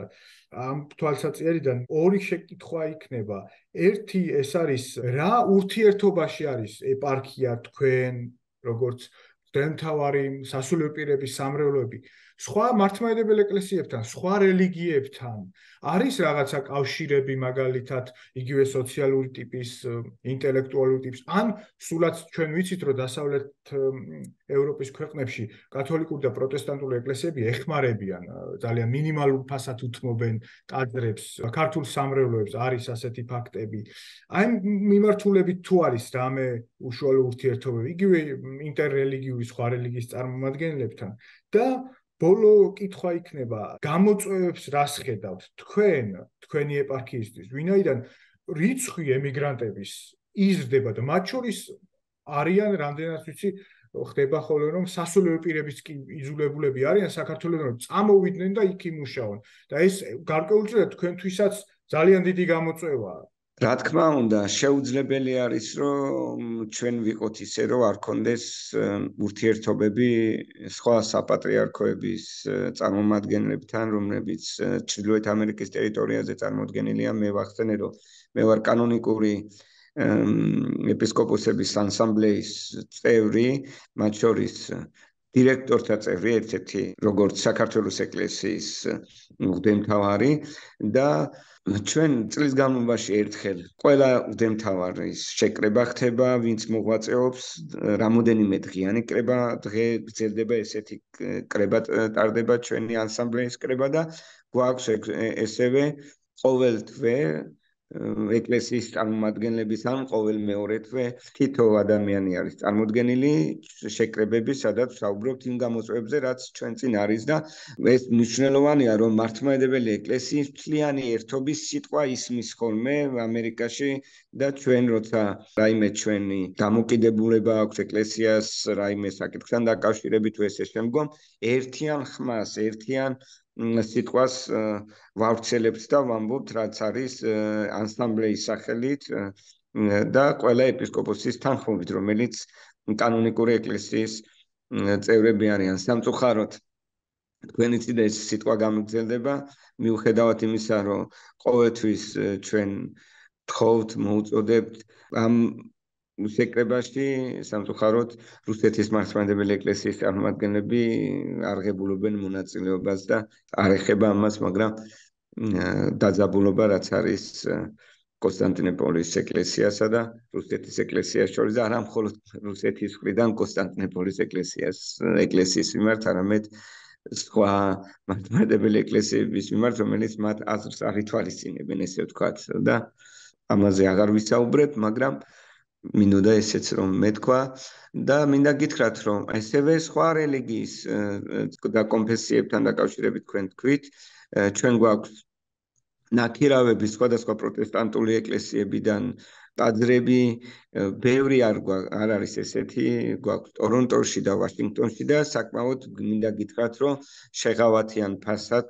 ამ თვალსაჩინარიდან ორი შეკითხვა იქნება. ერთი ეს არის რა ურთიერთობაში არის ეპარქია თქვენ, როგორც მღვდელმთავარი, სასულიერო პირების სამრევლოები სხვა მართლმადიდებელ ეკლესიებთან, სხვა რელიგიებთან არის რაღაცა კავშირები მაგალითად იგივე სოციალური ტიპის, ინტელექტუალური ტიპის, ან სულაც ჩვენ ვიცით, რომ დასავლეთ ევროპის ქვეყნებში კათოლიკური და პროტესტანტული ეკლესიები ეხმარებიან, ძალიან მინიმალურ ფასად უთმობენ ტაძრებს, ქართულ სამრევლოებს არის ასეთი ფაქტები. აი მიმართულებით თუ არის რამე უშუალო ურთიერთობები, იგივე ინტერრელიგიური სხვა რელიგიის წარმომადგენლებთან და ბოლო კითხვა იქნება, გამოწვევებს რას ხედავთ თქვენ, თქვენი ეპარქიისთვის, ვინაიდან რიცხვი ემიგრანტების იზრდება და მათ შორის არიან რამდენად ვიცი, ხდება ხოლმე რომ სასულიერო პირებიც კი იძულებულები არიან საქართველოსთან რომ წამოვიდნენ და იქ იმუშაონ. და ეს გარკვეულწილად თქვენთვისაც ძალიან დიდი გამოწვევაა. რა თქმა უნდა, შეუძლებელი არის, რომ ჩვენ ვიყოთ ისე, რომ არ კონდეს ურთიერთობები სხვა საპატრიარქოების წარმომადგენლებთან, რომლებიც ჩრდილოეთ ამერიკის ტერიტორიაზე წარმოდგენილია. მე ვახსენე, რომ მე ვარ კანონიკური ეპისკოპოსების ასამბლეის წევრი, მათ შორის დირექტორთა წევრი, ერთ-ერთი როგორც საქართველოს ეკლესიის მღვდელმთავარი და ჩვენ წლის განმავლობაში ერთხელ ყველა მღვდელმთავარის შეკრება ხდება, ვინც მოღვაწეობს, რამოდენიმე დღიანი კრება, დღე გრძელდება ესეთი კრება ტარდება ჩვენი ასამბლეის კრება და გვაქვს ესევე ყოველ თვე ეკლესიის წარმომადგენლების ან ყოველ მეორე თვე თითო ადამიანი არის წარმოდგენილი შეკრებები, სადაც ვსაუბრობთ იმ გამოწვევებზე, რაც ჩვენ წინ არის და ეს მნიშვნელოვანია, რომ მართლმადიდებელი ეკლესიის მთლიანი ერთობის სიტყვა ისმის ხოლმე ამერიკაში და ჩვენ როცა რაიმე ჩვენი დამოკიდებულება აქვს ეკლესიას, რაიმე საკითხთან დაკავშირებით თუ ესე შემდგომ, ერთიან ხმას, ერთიან სიტყვას ვავრცელებთ და ვამბობთ, რაც არის ასამბლეის სახელით და ყველა ეპისკოპოსის თანხმობით, რომელიც კანონიკური ეკლესიის წევრები არიან. სამწუხაროდ, თქვენიც და ეს სიტყვა გამიგრძელდება, მიუხედავად იმისა, რომ ყოველთვის ჩვენ თხოვთ, მოუწოდებთ ამ შეკრებაში, სამწუხაროდ, რუსეთის მართლმადიდებელი ეკლესიის წარმომადგენლები არღებულობენ მონაწილეობას და არ ეხება ამას, მაგრამ დაძაბულობა რაც არის კონსტანტინოპოლის ეკლესიასა და რუსეთის ეკლესიას შორის და არა მხოლოდ რუსეთის მხრიდან კონსტანტინოპოლის ეკლესიას ეკლესიის მიმართ, არამედ სხვა მართლმადიდებელი ეკლესიების მიმართ, რომელიც მათ აზრს არ ითვალისწინებენ, ესე ვთქვათ და ამაზე აღარ ვისაუბრებ, მაგრამ მინდოდა ესეც რომ მეთქვა და მინდა გითხრათ, რომ ასევე სხვა რელიგიის და კონფესიებთან დაკავშირებით თქვენ თქვით, ჩვენ გვაქვს ნაქირავები სხვადასხვა პროტესტანტული ეკლესიებიდან ტაძრები, ბევრი არ არ არის ესეთი, გვაქვს ტორონტოში და ვაშინგტონში და საკმაოდ მინდა გითხრათ, რომ შეღავათიან ფასად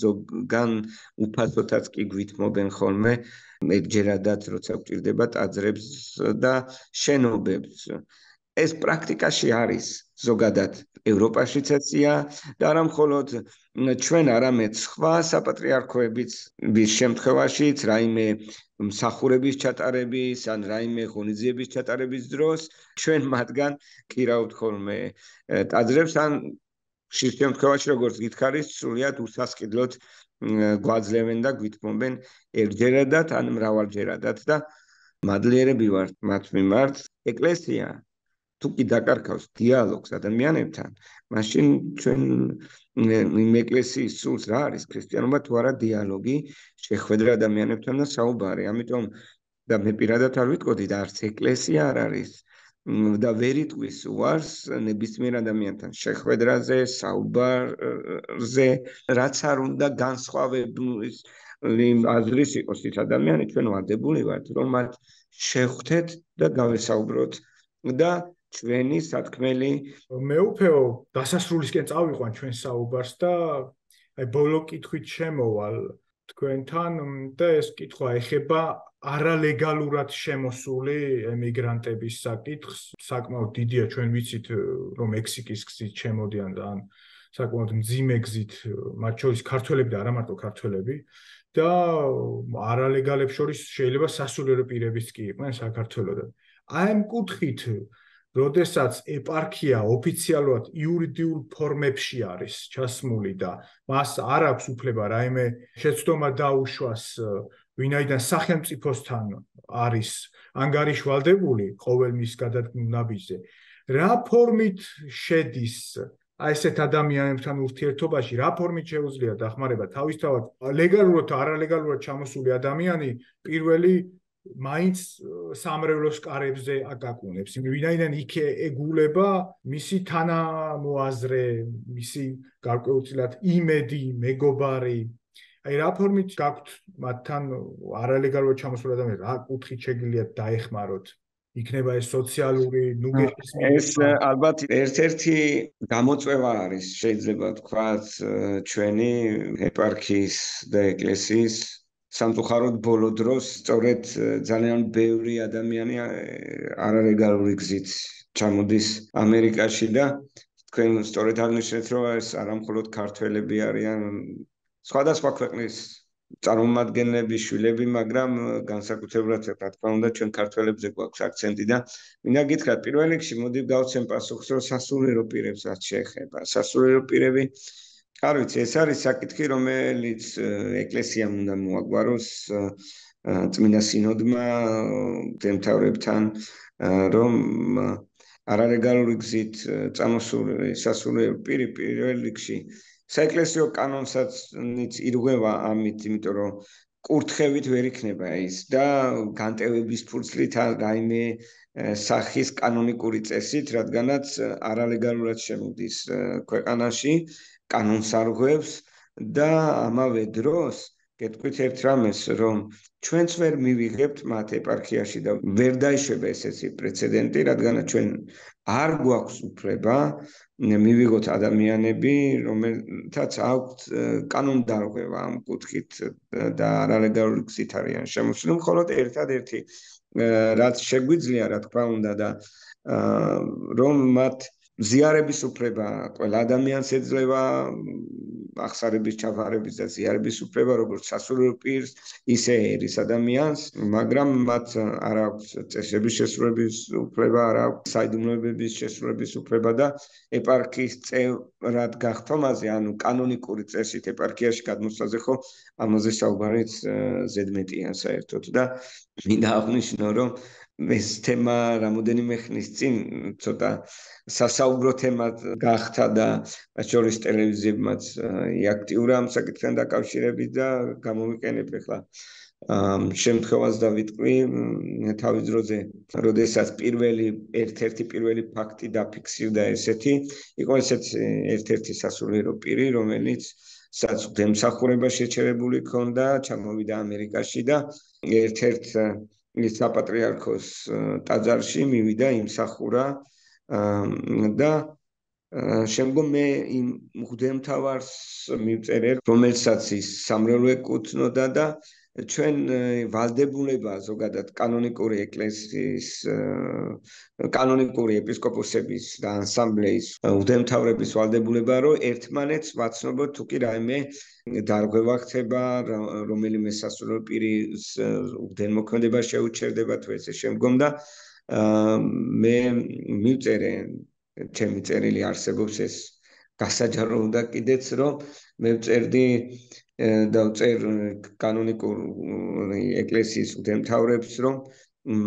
ზოგან უფასოთაც კი გვითმობენ ხოლმე მეგჯერადაც როცა გვჭირდება ტაძრებს და შენობებს. ეს პრაქტიკაში არის ზოგადად ევროპაშიც ეცია და არა მხოლოდ ჩვენ, არამედ სხვა საპატრიარქოებიც ვის შემთხვევაშიც რაიმე მსახურების ჩატარების ან რაიმე ღონისძიების ჩატარების დროს ჩვენ მათგან კირავთ ხოლმე ტაძრებს ან ხშირ შემთხვევაში როგორც გითხარით, სრულიად უსასყიდლოდ გვაძლევენ და გვითმობენ ერთჯერადად ან მრავალჯერადად და მადლიერები ვართ მათ მიმართ. ეკლესია თუ კი დაკარგავს დიალოგს ადამიანებთან, მაშინ ჩვენ იმ ეკლესიის სულს რა არის ქრისტიანობა თუ არა დიალოგი, შეხვედრა ადამიანებთან და საუბარი. ამიტომ და მე პირადად არ ვიტყოდი და არც ეკლესია არ არის და ვერ იტყვის უარს ნებისმიერ ადამიანთან შეხვედრაზე, საუბარზე, რაც არ უნდა განსხვავების აზრის იყოს ის ადამიანი, ჩვენ ვარდებული ვართ, რომ მათ შევხვდეთ და გავესაუბროთ და ჩვენი სათქმელი მე უფეო დასასრულისკენ წავიყვან ჩვენ საუბარს და აი ბოლო კითხვით შემოვალ თქვენთან და ეს კითხვა ეხება არალეგალურად შემოსული ემიგრანტების საკითხს. საკმაოდ დიდია ჩვენ ვიცით რომ მექსიკის გზით შემოდიან და ან საკმაოდ მძიმე გზით მათ შორის ქართველები და არა მარტო ქართველები და არალეგალებს შორის შეიძლება სასულიერო პირებიც კი იყვნენ საქართველოსდან. აი ამ კუთხით როდესაც ეპარქია ოფიციალურად იურიდიულ ფორმებში არის ჩასმული და მას არ აქვს უფლება რაიმე შეცდომა დაუშვას ვინაიდან სახელმწიფოსთან არის ანგარიშვალდებული ყოველ მის გადადგმულ ნაბიჯზე რა ფორმით შედის აი ესეთ ადამიანებთან ურთიერთობაში რა ფორმით შეუძლია დახმარება თავისთავად ლეგალურად თუ არალეგალურად ჩამოსული ადამიანი პირველი მაინც სამრევლოს კარებზე აკაკუნებს. ვინაიდან იქ ეგულება მისი თანამოაზრე, მისი გარკვეულწილად იმედი, მეგობარი. აი რა ფორმით გაქვთ მათთან არალეგალურად ჩამოსული ადამიანები, რა კუთხით შეგიძლიათ დაეხმაროთ? იქნება ეს სოციალური ნუგეშის ეს ალბათ ერთ-ერთი გამოწვევა არის, შეიძლება ვთქვათ, ჩვენი ეპარქიის და ეკლესიის სამწუხაროდ ბოლო დროს სწორედ ძალიან ბევრი ადამიანი არალეგალური გზით ჩამოდის ამერიკაში და თქვენ სწორედ აღნიშნეთ, რომ ეს არა მხოლოდ ქართველები არიან, სხვადასხვა ქვეყნის წარმომადგენლები, შვილები, მაგრამ განსაკუთრებულად რა თქმა უნდა ჩვენ ქართველებზე გვაქვს აქცენტი და მინდა გითხრათ, პირველ რიგში მოდი გავცემ პასუხს, რომ სასულიერო პირებს რაც შეეხება. სასულიერო პირები არ ვიცი, ეს არის საკითხი, რომელიც ეკლესიამ უნდა მოაგვაროს წმინდა სინოდმა მდემთავრებთან, რომ არალეგალური გზით წამოსული სასულიერო პირი პირველ რიგში საეკლესიო კანონსაც ირღვევა ამით, იმიტომ რომ კურთხევით ვერ იქნება ის და განტევების ფურცლით რაიმე სახის კანონიკური წესით, რადგანაც არალეგალურად შემოდის ქვეყანაში კანონს არღვევს და ამავე დროს გეტყვით ერთ რამეს, რომ ჩვენც ვერ მივიღებთ მათ ეპარქიაში და ვერ დაიშვება ესეთი პრეცედენტი, რადგანაც ჩვენ არ გვაქვს უფლება მივიღოთ ადამიანები, რომელთაც აქვთ კანონდარღვევა ამ კუთხით და არალეგალური გზით არიან შემოსული, მხოლოდ ერთადერთი რაც შეგვიძლია, რა თქმა უნდა და რომ მათ ზიარების უფლება ყველა ადამიანს ეძლევა აღსარების ჩაფარების და ზიარების უფლება როგორც სასულიერო პირს, ისე ერის ადამიანს, მაგრამ მათ არ აქვს წესების შესრულების უფლება, არ აქვს საიდუმლოებების შესრულების უფლება და ეპარქიის წევრად გახდომაზე, ანუ კანონიკური წესით ეპარქიაში გადმოსვლაზე ხო ამაზე საუბარიც ზედმეტია საერთოდ და მინდა აღნიშნო, რომ ეს თემა რამოდენიმე ხნის წინ ცოტა სასაუბრო თემად გახდა და შორის ტელევიზიებმაც აქტიურა ამ საკითხთან დაკავშირებით და გამოვიყენებ ახლა შემთხვევას დავიტყვი თავის დროზე, როდესაც პირველი ერთ-ერთი პირველი ფაქტი დაფიქსირდა ესეთი, იყო ესეც ერთ-ერთი სასულიერო პირი, რომელიც საცდემსახურება შეჩერებული ჰქონდა, ჩამოვიდა ამერიკაში და ერთ-ერთ ის საპატრიარქოს ტაძარში მივიდა იმსახურა და შემდგომ მე იმ მღვდელმთავარს მივწერე, რომელსაც ის სამრევლო ეკუთვნოდა და ჩვენ ვალდებულება ზოგადად კანონიკური ეკლესიის კანონიკური ეპისკოპოსების და ანსამბლეის მღვდელმთავრების ვალდებულება, რომ ერთმანეთს ვაცნობოთ თუ კი რაიმე დარღვევა ხდება, რომელიმე სასულიერო პირის მღვდელმოქმედება შეუჩერდება თუ ესე შემდგომ და მე მივწერე ჩემი წერილი არსებობს ეს გასაჯარო უნდა კიდეც რომ მე ვწერდი დავწერ კანონიკურ ეკლესიის მღვდელმთავრებს რომ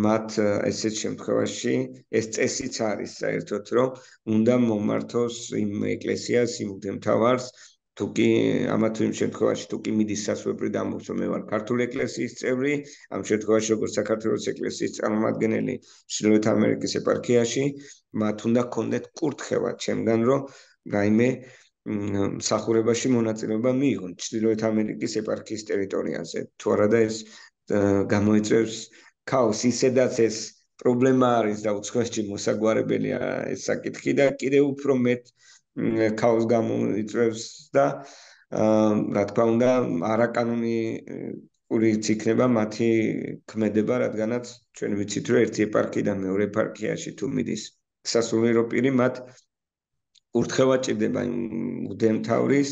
მათ ესეთ შემთხვევაში ეს წესიც არის საერთოდ რომ უნდა მომართოს იმ ეკლესიას იმ მღვდელმთავარს თუ კი ამა თუ იმ შემთხვევაში თუ კი მიდის სასულიერო დამბობს რომ მე ვარ ქართული ეკლესიის წევრი ამ შემთხვევაში როგორც საქართველოს ეკლესიის წარმომადგენელი ჩრდილოეთ ამერიკის ეპარქიაში მათ უნდა გქონდეთ კურთხევა ჩემგან რომ რაიმე მსახურებაში მონაწილეობა მიიღონ ჩრდილოეთ ამერიკის ეპარქიის ტერიტორიაზე თუ არა და ეს გამოიწვევს ქაოსს ისედაც ეს პრობლემა არის და უცხოეთში მოსაგვარებელია ეს საკითხი და კიდევ უფრო მეტ ქაოსს გამოიწვევს და რა თქმა უნდა არაკანონიურიც იქნება მათი ქმედება, რადგანაც ჩვენ ვიცით რომ ერთი ეპარქიიდან მეორე ეპარქიაში თუ მიდის სასულიერო პირი მათ ურთხევა ჭირდება იმ მღვდელმთავრის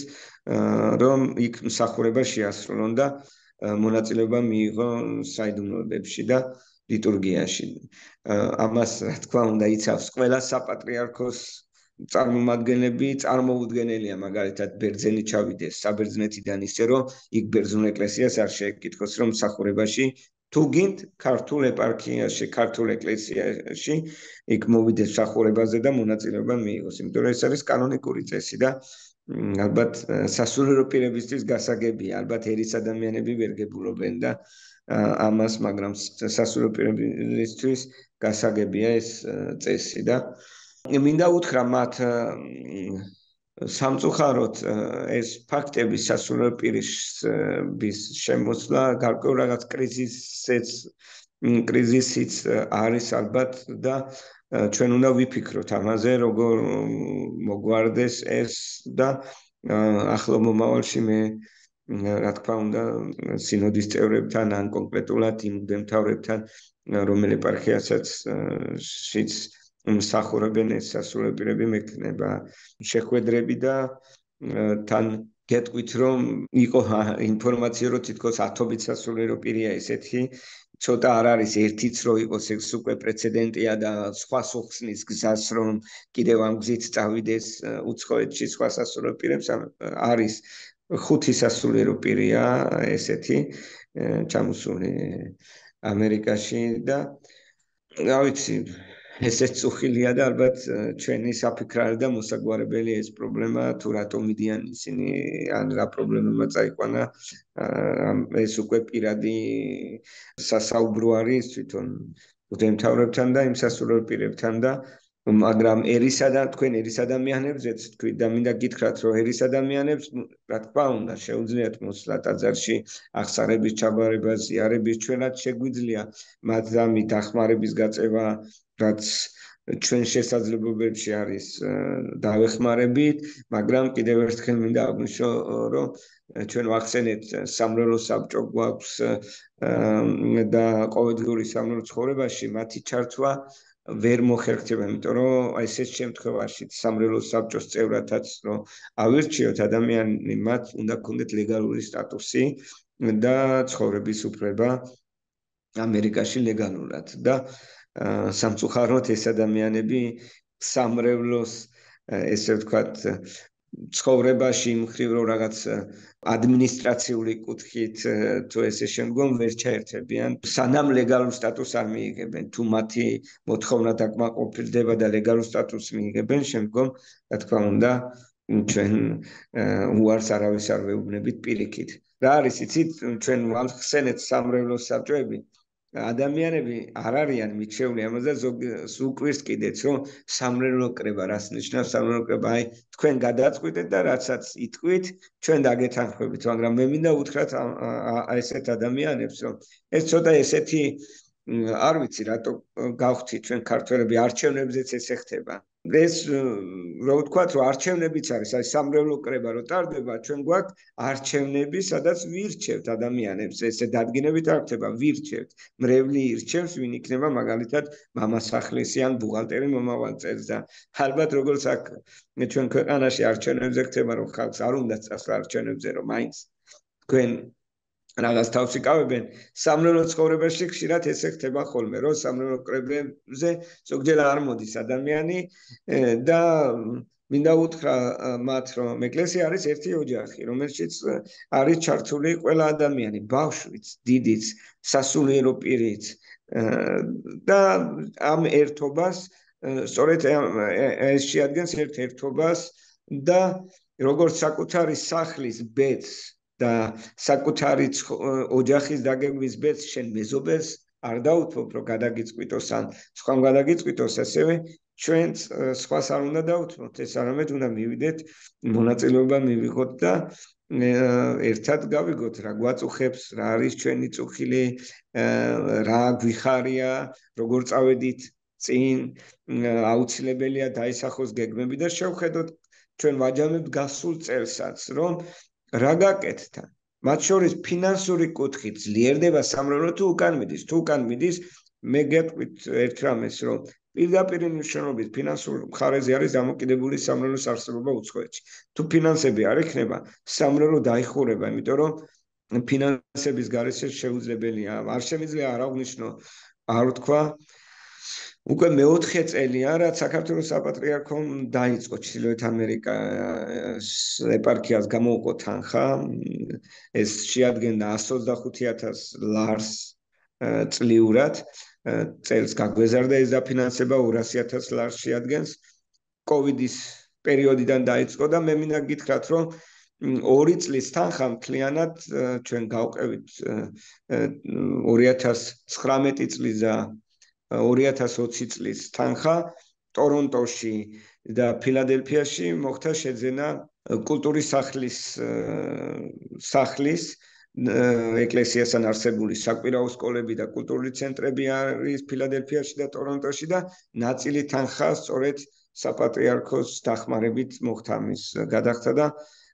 რომ იქ მსახურება შეასრულონ და მონაწილეობა მიიღონ საიდუმლოებებში და ლიტურგიაში. ამას რა თქმა უნდა იცავს ყველა საპატრიარქოს წარმომადგენლები, წარმოუდგენელია მაგალითად ბერძენი ჩავიდეს საბერძნეთიდან ისე რომ იქ ბერძნულ ეკლესიას არ შეეკითხოს რომ მსახურებაში თუ გინდ ქართულ ეპარქიაში, ქართულ ეკლესიაში იქ მოვიდეს მსახურებაზე და მონაწილეობა მიიღოს, იმიტომ რომ ეს არის კანონიკური წესი და ალბათ სასულიერო პირებისთვის გასაგებია, ალბათ ერის ადამიანები ვერ გებულობენ და ამას, მაგრამ სასულიერო პირებისთვის გასაგებია ეს წესი და მინდა უთხრა მათ სამწუხაროდ ეს ფაქტები სასულიერო პირის შემოსვლა გარკვეულ რაღაც კრიზისიც კრიზისიც არის ალბათ და ჩვენ უნდა ვიფიქროთ ამაზე, როგორ მოგვარდეს ეს და ახლო მომავალში მე რა თქმა უნდა სინოდის წევრებთან ან კონკრეტულად იმ მღვდელმთავრებთან რომელ ეპარქიასაც შიც მსახურებენ ეს სასულიერო პირები მექნება შეხვედრები და თან გეტყვით რომ იყო ინფორმაცია რომ თითქოს ათობით სასულიერო პირია ესეთი ცოტა არ არის ერთიც რო იყოს ეს უკვე პრეცედენტია და სხვა სუხსნის გზას რომ კიდევ ამ გზით წავიდეს უცხოეთში სხვა სასულიერო პირებს არის ხუთი სასულიერო პირია ესეთი ჩამოსული ამერიკაში და რა ვიცი ესეც უხილია და ალბათ ჩვენი საფიქრარი და მოსაგვარებელი ეს პრობლემა თუ რატომ მიდიან ისინი ან რა პრობლემებმა წაიყვანა ეს უკვე პირადი სასაუბრო არის თვითონ მღვდელმთავრებთან და იმ სასულიერო პირებთან და მაგრამ ერისა და თქვენ ერის ადამიანებზეც თქვით და მინდა გითხრათ რომ ერის ადამიანებს რა თქმა უნდა შეუძლიათ მოსვლა ტაძარში აღსარების ჩაბარება ზიარების ჩვენაც შეგვიძლია მაგრამ დახმარების გაწევა რაც ჩვენ შესაძლებლობებში არის დავეხმარებით მაგრამ კიდევ ერთხელ მინდა აღვნიშნო რომ ჩვენ ვახსენეთ სამრევლო საბჭო გვაქვს და ყოველდღიური სამრევლო ცხოვრებაში მათი ჩართვა ვერ მოხერხდება, იმიტომ რომ ესეთ შემთხვევაში სამრევლო საბჭოს წევრათაც რომ ავირჩიოთ ადამიანი მათ უნდა ქონდეთ ლეგალური სტატუსი და ცხოვრების უფლება ამერიკაში ლეგალურად და სამწუხაროდ ეს ადამიანები სამრევლოს ესე ვთქვათ ცხოვრებაში მხრივ რომ რაღაც ადმინისტრაციული კუთხით თუ ესე შემდგომ ვერ ჩაერთებიან სანამ ლეგალურ სტატუსს არ მიიღებენ თუ მათი მოთხოვნა დაკმაყოფილდება და ლეგალურ სტატუსს მიიღებენ შემდგომ რა თქმა უნდა ჩვენ უარს არავის არ ვეუბნებით პირიქით რა არის იცით ჩვენ ვახსენეთ სამრევლო საბჭოები ადამიანები არ არიან მიჩეული ამაზე ზოგ კიდეც რომ სამრევლო კრება რას ნიშნავს სამრევლო კრება აი თქვენ გადაწყვიტეთ და რაცაც იტყვით ჩვენ დაგეთანხმებით მაგრამ მე მინდა უთხრათ ესეთ ადამიანებს რომ ეს ცოტა ესეთი არ ვიცი რატო გავხდით ჩვენ ქართველები არჩევნებზეც ესე ხდება ეს რო ვთქვათ რომ არჩევნებიც არის აი სამრევლო კრება რო ტარდება ჩვენ გვაქვს არჩევნები სადაც ვირჩევთ ადამიანებს ესე დადგინებით არ ხდება ვირჩევთ მრევლი ირჩევს ვინ იქნება მაგალითად მამასახლისი ან ბუღალტერი მომავალ წელს და ალბათ როგორც აქ ჩვენ ქვეყანაში არჩევნებზე ხდება რომ ხალხს არ უნდა წასვლა არჩევნებზე რომ მაინც თქვენ რაღაც თავს იკავებენ სამრევლო ცხოვრებაში ხშირად ესე ხდება ხოლმე რომ სამრევლო კრებებზე ზოგჯერ არ მოდის ადამიანი და მინდა უთხრა მათ რომ ეკლესია არის ერთი ოჯახი რომელშიც არის ჩართული ყველა ადამიანი ბავშვიც დიდიც სასულიერო პირიც და ამ ერთობას სწორედ ეს შეადგენს ერთ ერთობას და როგორც საკუთარი სახლის ბედს და საკუთარი ოჯახის დაგეგმვის ბედს შენ მეზობელს არ დაუთმობ რომ გადაგიწყვიტოს ან სხვამ გადაგიწყვიტოს ასევე ჩვენც სხვას არ უნდა დაუთმოთ ეს არამედ უნდა მივიდეთ მონაწილეობა მივიღოთ და ერთად გავიგოთ რა გვაწუხებს, რა არის ჩვენი წუხილი, რა გვიხარია, როგორ წავედით წინ, აუცილებელია დაისახოს გეგმები და შევხედოთ ჩვენ ვაჯამებთ გასულ წელსაც, რომ რა გაკეთდა. მათ შორის ფინანსური კუთხით ძლიერდება სამრევლო თუ უკან მიდის, თუ უკან მიდის, მე გეტყვით ერთ რამეს, რომ პირდაპირ მნიშვნელობით ფინანსურ მხარეზე არის დამოკიდებული სამრევლოს არსებობა უცხოეთში. თუ ფინანსები არ იქნება, სამრევლო დაიხურება, იმიტომ რომ ფინანსების გარეშე შეუძლებელია. არ შემიძლია არ აღვნიშნო, არ ვთქვა, უკვე მეოთხე წელია, რაც საქართველოს საპატრიარქომ დაიწყო ჩრდილოეთ ამერიკას ეპარქიას გამოუყო თანხა, ეს შეადგენდა εκατს ოცდახუთი ათას ლარს წლიურად, წელს გაგვეზარდა ეს დაფინანსება ორასი ათას ლარს შეადგენს. კოვიდის პერიოდიდან დაიწყო და მე მინდა გითხრათ, რომ ორი წლის თანხა მთლიანად ჩვენ გავყევით ორი ათას ცხრამეტი წლის და ორი ათას ოცი წლის თანხა ტორონტოში და ფილადელფიაში მოხდა შეძენა კულტურის სახლის სახლის ეკლესიასთან არსებული საკვირაო სკოლები და კულტურული ცენტრები არის ფილადელფიაში და ტორონტოში და ნაწილი თანხა სწორედ საპატრიარქოს დახმარებით მოხდა მის გადახდა და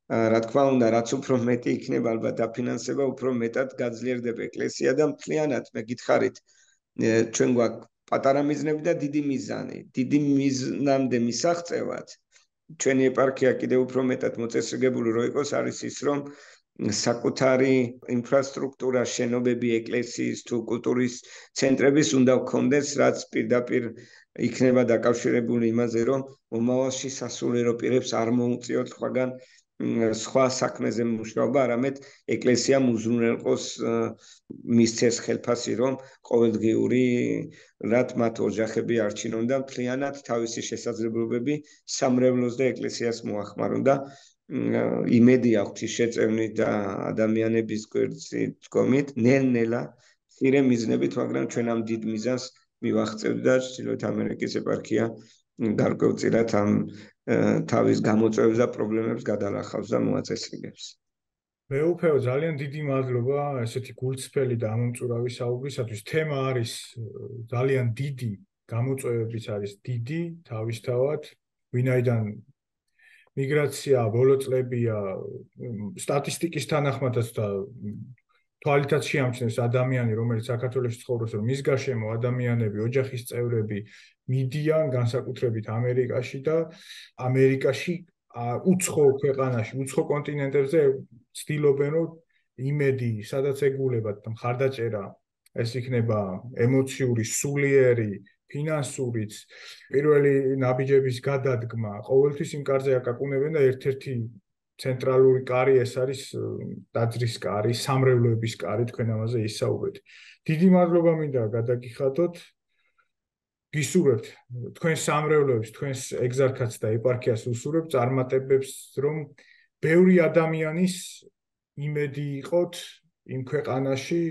რა თქმა უნდა, რაც უფრო მეტი იქნება ალბათ დაფინანსება, უფრო მეტად გაძლიერდება ეკლესია და მთლიანად მე გითხარით, ჩვენ გვაქვს პატარა მიზნები და დიდი მიზანი. დიდი მიზნამდე მისაღწევად ჩვენი ეპარქია კიდევ უფრო მეტად მოწესრიგებული რო იყოს, არის ის, რომ საკუთარი ინფრასტრუქტურა, შენობები, ეკლესიის თუ კულტურის ცენტრების უნდა გქონდეს, რაც პირდაპირ იქნება დაკავშირებული იმაზე, რომ მომავალში სასულიერო პირებს არ მოუწიოთ სხვაგან სხვა საქმეზე მუშაობა, არამედ ეკლესიამ უზრუნველყოს მისცეს ხელფასი, რომ ყოველდღიური რაც მათ ოჯახები არჩინონ და მთლიანად თავისი შესაძლებლობები სამრევლოს და ეკლესიას მოახმარონ და იმედი აქვს შეწევნით და ადამიანების გვერდით დგომით, ნელ-ნელა მცირე მიზნებით, მაგრამ ჩვენ ამ დიდ მიზანს მივაღწევთ და ჩრდილოეთ ამერიკის ეპარქია გარკვეულწილად ამ თავის გამოწვევებს და პრობლემებს გადალახავს და მოაწესრიგებს. მეუფეო, ძალიან დიდი მადლობა ესეთი გულწრფელი და ამომწურავი საუბრისათვის. თემა არის ძალიან დიდი, გამოწვევებიც არის დიდი, თავისთავად, ვინაიდან მიგრაცია ბოლო წლებია სტატისტიკის თანახმადაც და თვალითაც შეამჩნევს ადამიანი, რომელიც საქართველოში ცხოვრობს, რომ მის გარშემო ადამიანები, ოჯახის წევრები მიდიან განსაკუთრებით ამერიკაში და ამერიკაში უცხო ქვეყანაში, უცხო კონტინენტებზე ცდილობენ, რომ იმედი, სადაც ეგულებათ და მხარდაჭერა, ეს იქნება ემოციური, სულიერი, ფინანსურიც, პირველი ნაბიჯების გადადგმა, ყოველთვის იმ კარზე აკაკუნებენ და ერთ-ერთი ცენტრალური კარი ეს არის ტაძრის კარი, სამრევლოების კარი, თქვენ ამაზე ისაუბრეთ. დიდი მადლობა მინდა გადაგიხადოთ. გისურვებთ თქვენს სამრევლოებს, თქვენს ეგზარქაც და ეპარქიას უსურვებთ წარმატებებს, რომ ბევრი ადამიანის იმედი იყოთ იმ ქვეყანაში,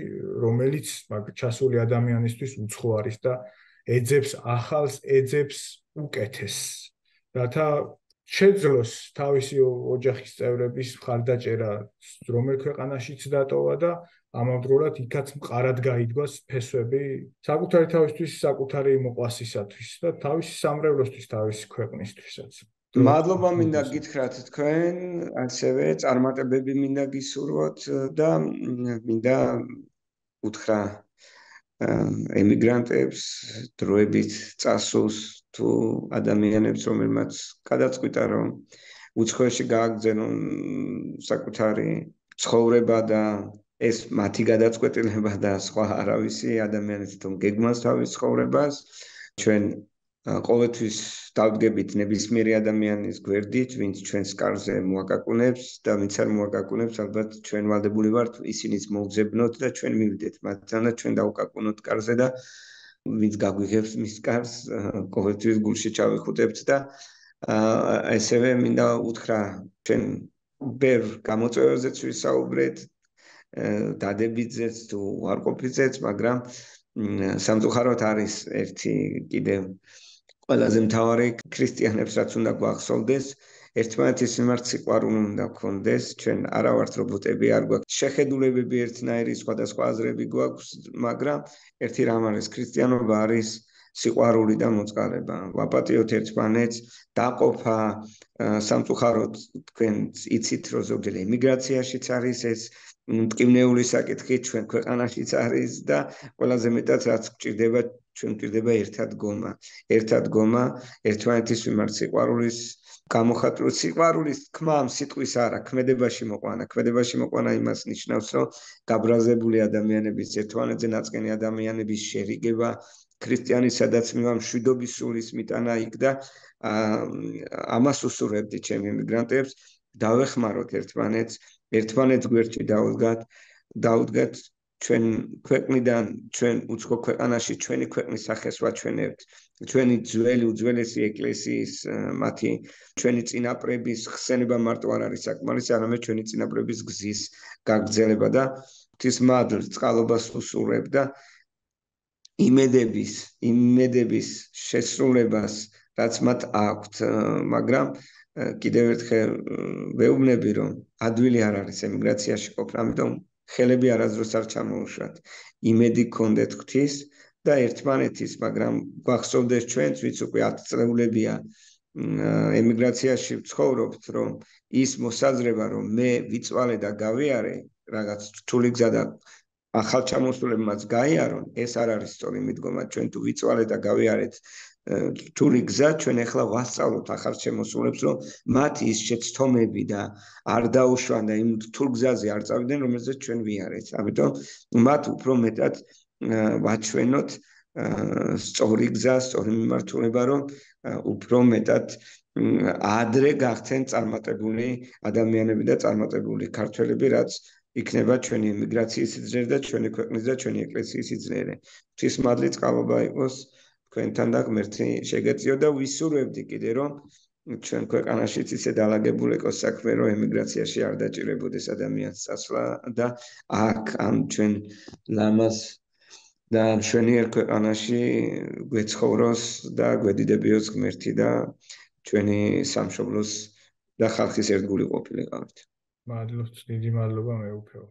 რომელიც ჩასული ადამიანისთვის უცხო არის და ეძებს ახალს, ეძებს უკეთესს. რათა შეძლოს თავისი ოჯახის წევრების მხარდაჭერა, რომელ ქვეყანაშიც დატოვა და ამავდროულად იქაც მყარად გაიდგას ფესვები საკუთარი თავისთვის, საკუთარი მოყვასისათვის და თავისი სამრევლოსთვის, თავისი ქვეყნისთვისაც. მადლობა მინდა გითხრათ თქვენ, ასევე წარმატებები მინდა გისურვოთ და მინდა უთხრა ემიგრანტებს, დროებით წასულს თუ ადამიანებს, რომელმაც გადაწყვიტა, რომ უცხოეთში გააგრძელონ საკუთარი ცხოვრება და ეს მათი გადაწყვეტილება და სხვა არავისი ადამიანის თვითონ გეგმას თავის ცხოვრებას, ჩვენ ყოველთვის დავდგებით ნებისმიერი ადამიანის გვერდით, ვინც ჩვენს კარზე მოაკაკუნებს და ვინც არ მოაკაკუნებს, ალბათ ჩვენ ვალდებული ვართ ისინიც მოვძებნოთ და ჩვენ მივიდეთ მათთან და ჩვენ დავუკაკუნოთ კარზე და ვინც გაგვიღებს მის კარს, ყოველთვის გულში ჩავიხუტებთ და ასევე მინდა უთხრა ჩვენ ბევრ გამოწვევებზეც ვისაუბრეთ, დადებითზეც თუ უარყოფითზეც, მაგრამ სამწუხაროდ არის ერთი კიდევ ყველაზე მთავარი ქრისტიანებს რაც უნდა გვახსოვდეს, ერთმანეთის მიმართ სიყვარული უნდა გქონდეს, ჩვენ არა ვართ რობოტები, არ გვაქვს შეხედულებები ერთნაირი, სხვადასხვა აზრები გვაქვს, მაგრამ ერთი რამ არის ქრისტიანობა არის სიყვარული და მოწყალება. ვაპატიოთ ერთმანეთს, დაყოფა სამწუხაროდ თქვენ იცით, რომ ზოგჯერ ემიგრაციაშიც არის ეს მტკივნეული საკითხი, ჩვენ ქვეყანაშიც არის და ყველაზე მეტად რაც გვჭირდება, ჩვენ გვჭირდება ერთად გომა. ერთად გომა, ერთმანეთის მიმართ სიყვარულის გამოხატვა, სიყვარულის თქმა ამ სიტყვის არა, ქმედებაში მოყვანა. ქმედებაში მოყვანა იმას ნიშნავს, რომ გაბრაზებული ადამიანების, ერთმანეთზე ნაწყენი ადამიანების შერიგება, ქრისტიანი სადაც მივა მშვიდობის სულის მიტანა იქ და ამას უსურვებდი ჩემი ემიგრანტებს, დავეხმაროთ ერთმანეთს, ერთმანეთს გვერდში დაუდგათ, დაუდგათ ჩვენ ქვეყნიდან, ჩვენ უცხო ქვეყანაში ჩვენი ქვეყნის სახეს ვაჩვენებთ, ჩვენი ძველი უძველესი ეკლესიის მათი ჩვენი წინაპრების ხსენება მარტო არ არის საკმარისი, არამედ ჩვენი წინაპრების გზის გაგრძელება და ღვთისმადლ წყალობას უსურვებ და იმედების, იმედების შესრულებას, რაც მათ აქვთ, მაგრამ კიდევ ერთხელ ვეუბნები, რომ ადვილი არ არის ემიგრაციაში ყოფნა, ამიტომ ხელები არასდროს არ ჩამოუშვათ. იმედი გქონდეთ ღვთის და ერთმანეთის, მაგრამ გვახსოვდეს ჩვენც, ვინც უკვე ათ წლეულებია ემიგრაციაში ვცხოვრობთ, რომ ის მოსაზრება, რომ მე ვიწვალე და გავიარე, რაღაც რთული გზა და ახალჩამოსულებმაც გაიარონ, ეს არ არის სწორი მიდგომა, ჩვენ თუ ვიწვალე და გავიარეთ რთული გზა, ჩვენ ახლა ვასწავლოთ ახალჩამოსულებს, რომ მათ ის შეცდომები და არ დაუშვან და იმ რთულ გზაზე არ წავიდნენ, რომელზეც ჩვენ ვიარეთ. ამიტომ მათ უფრო მეტად ვაჩვენოთ სწორი გზა, სწორი მიმართულება, რომ უფრო მეტად ადრე გახდნენ წარმატებული ადამიანები და წარმატებული ქართველები, რაც იქნება ჩვენი ემიგრაციის სიძლიერე და ჩვენი ქვეყნის და ჩვენი ეკლესიის სიძლიერე. ღვთისმადლი წყალობა იყოს თქვენთან და ღმერთი შეგეწიო და ვისურვებდი კიდე რომ ჩვენ ქვეყანაშიც ისე დალაგებული იყოს საქმე, რომ ემიგრაციაში არ დაჭირებოდეს ადამიანს წასვლა და აქ ამ ჩვენ ლამაზ და მშვენიერ ქვეყანაში გვეცხოვროს და გვედიდებიოს ღმერთი და ჩვენი სამშობლოს და ხალხის ერთგული ყოფილიყავით. მადლობთ, დიდი მადლობა მეუფეო.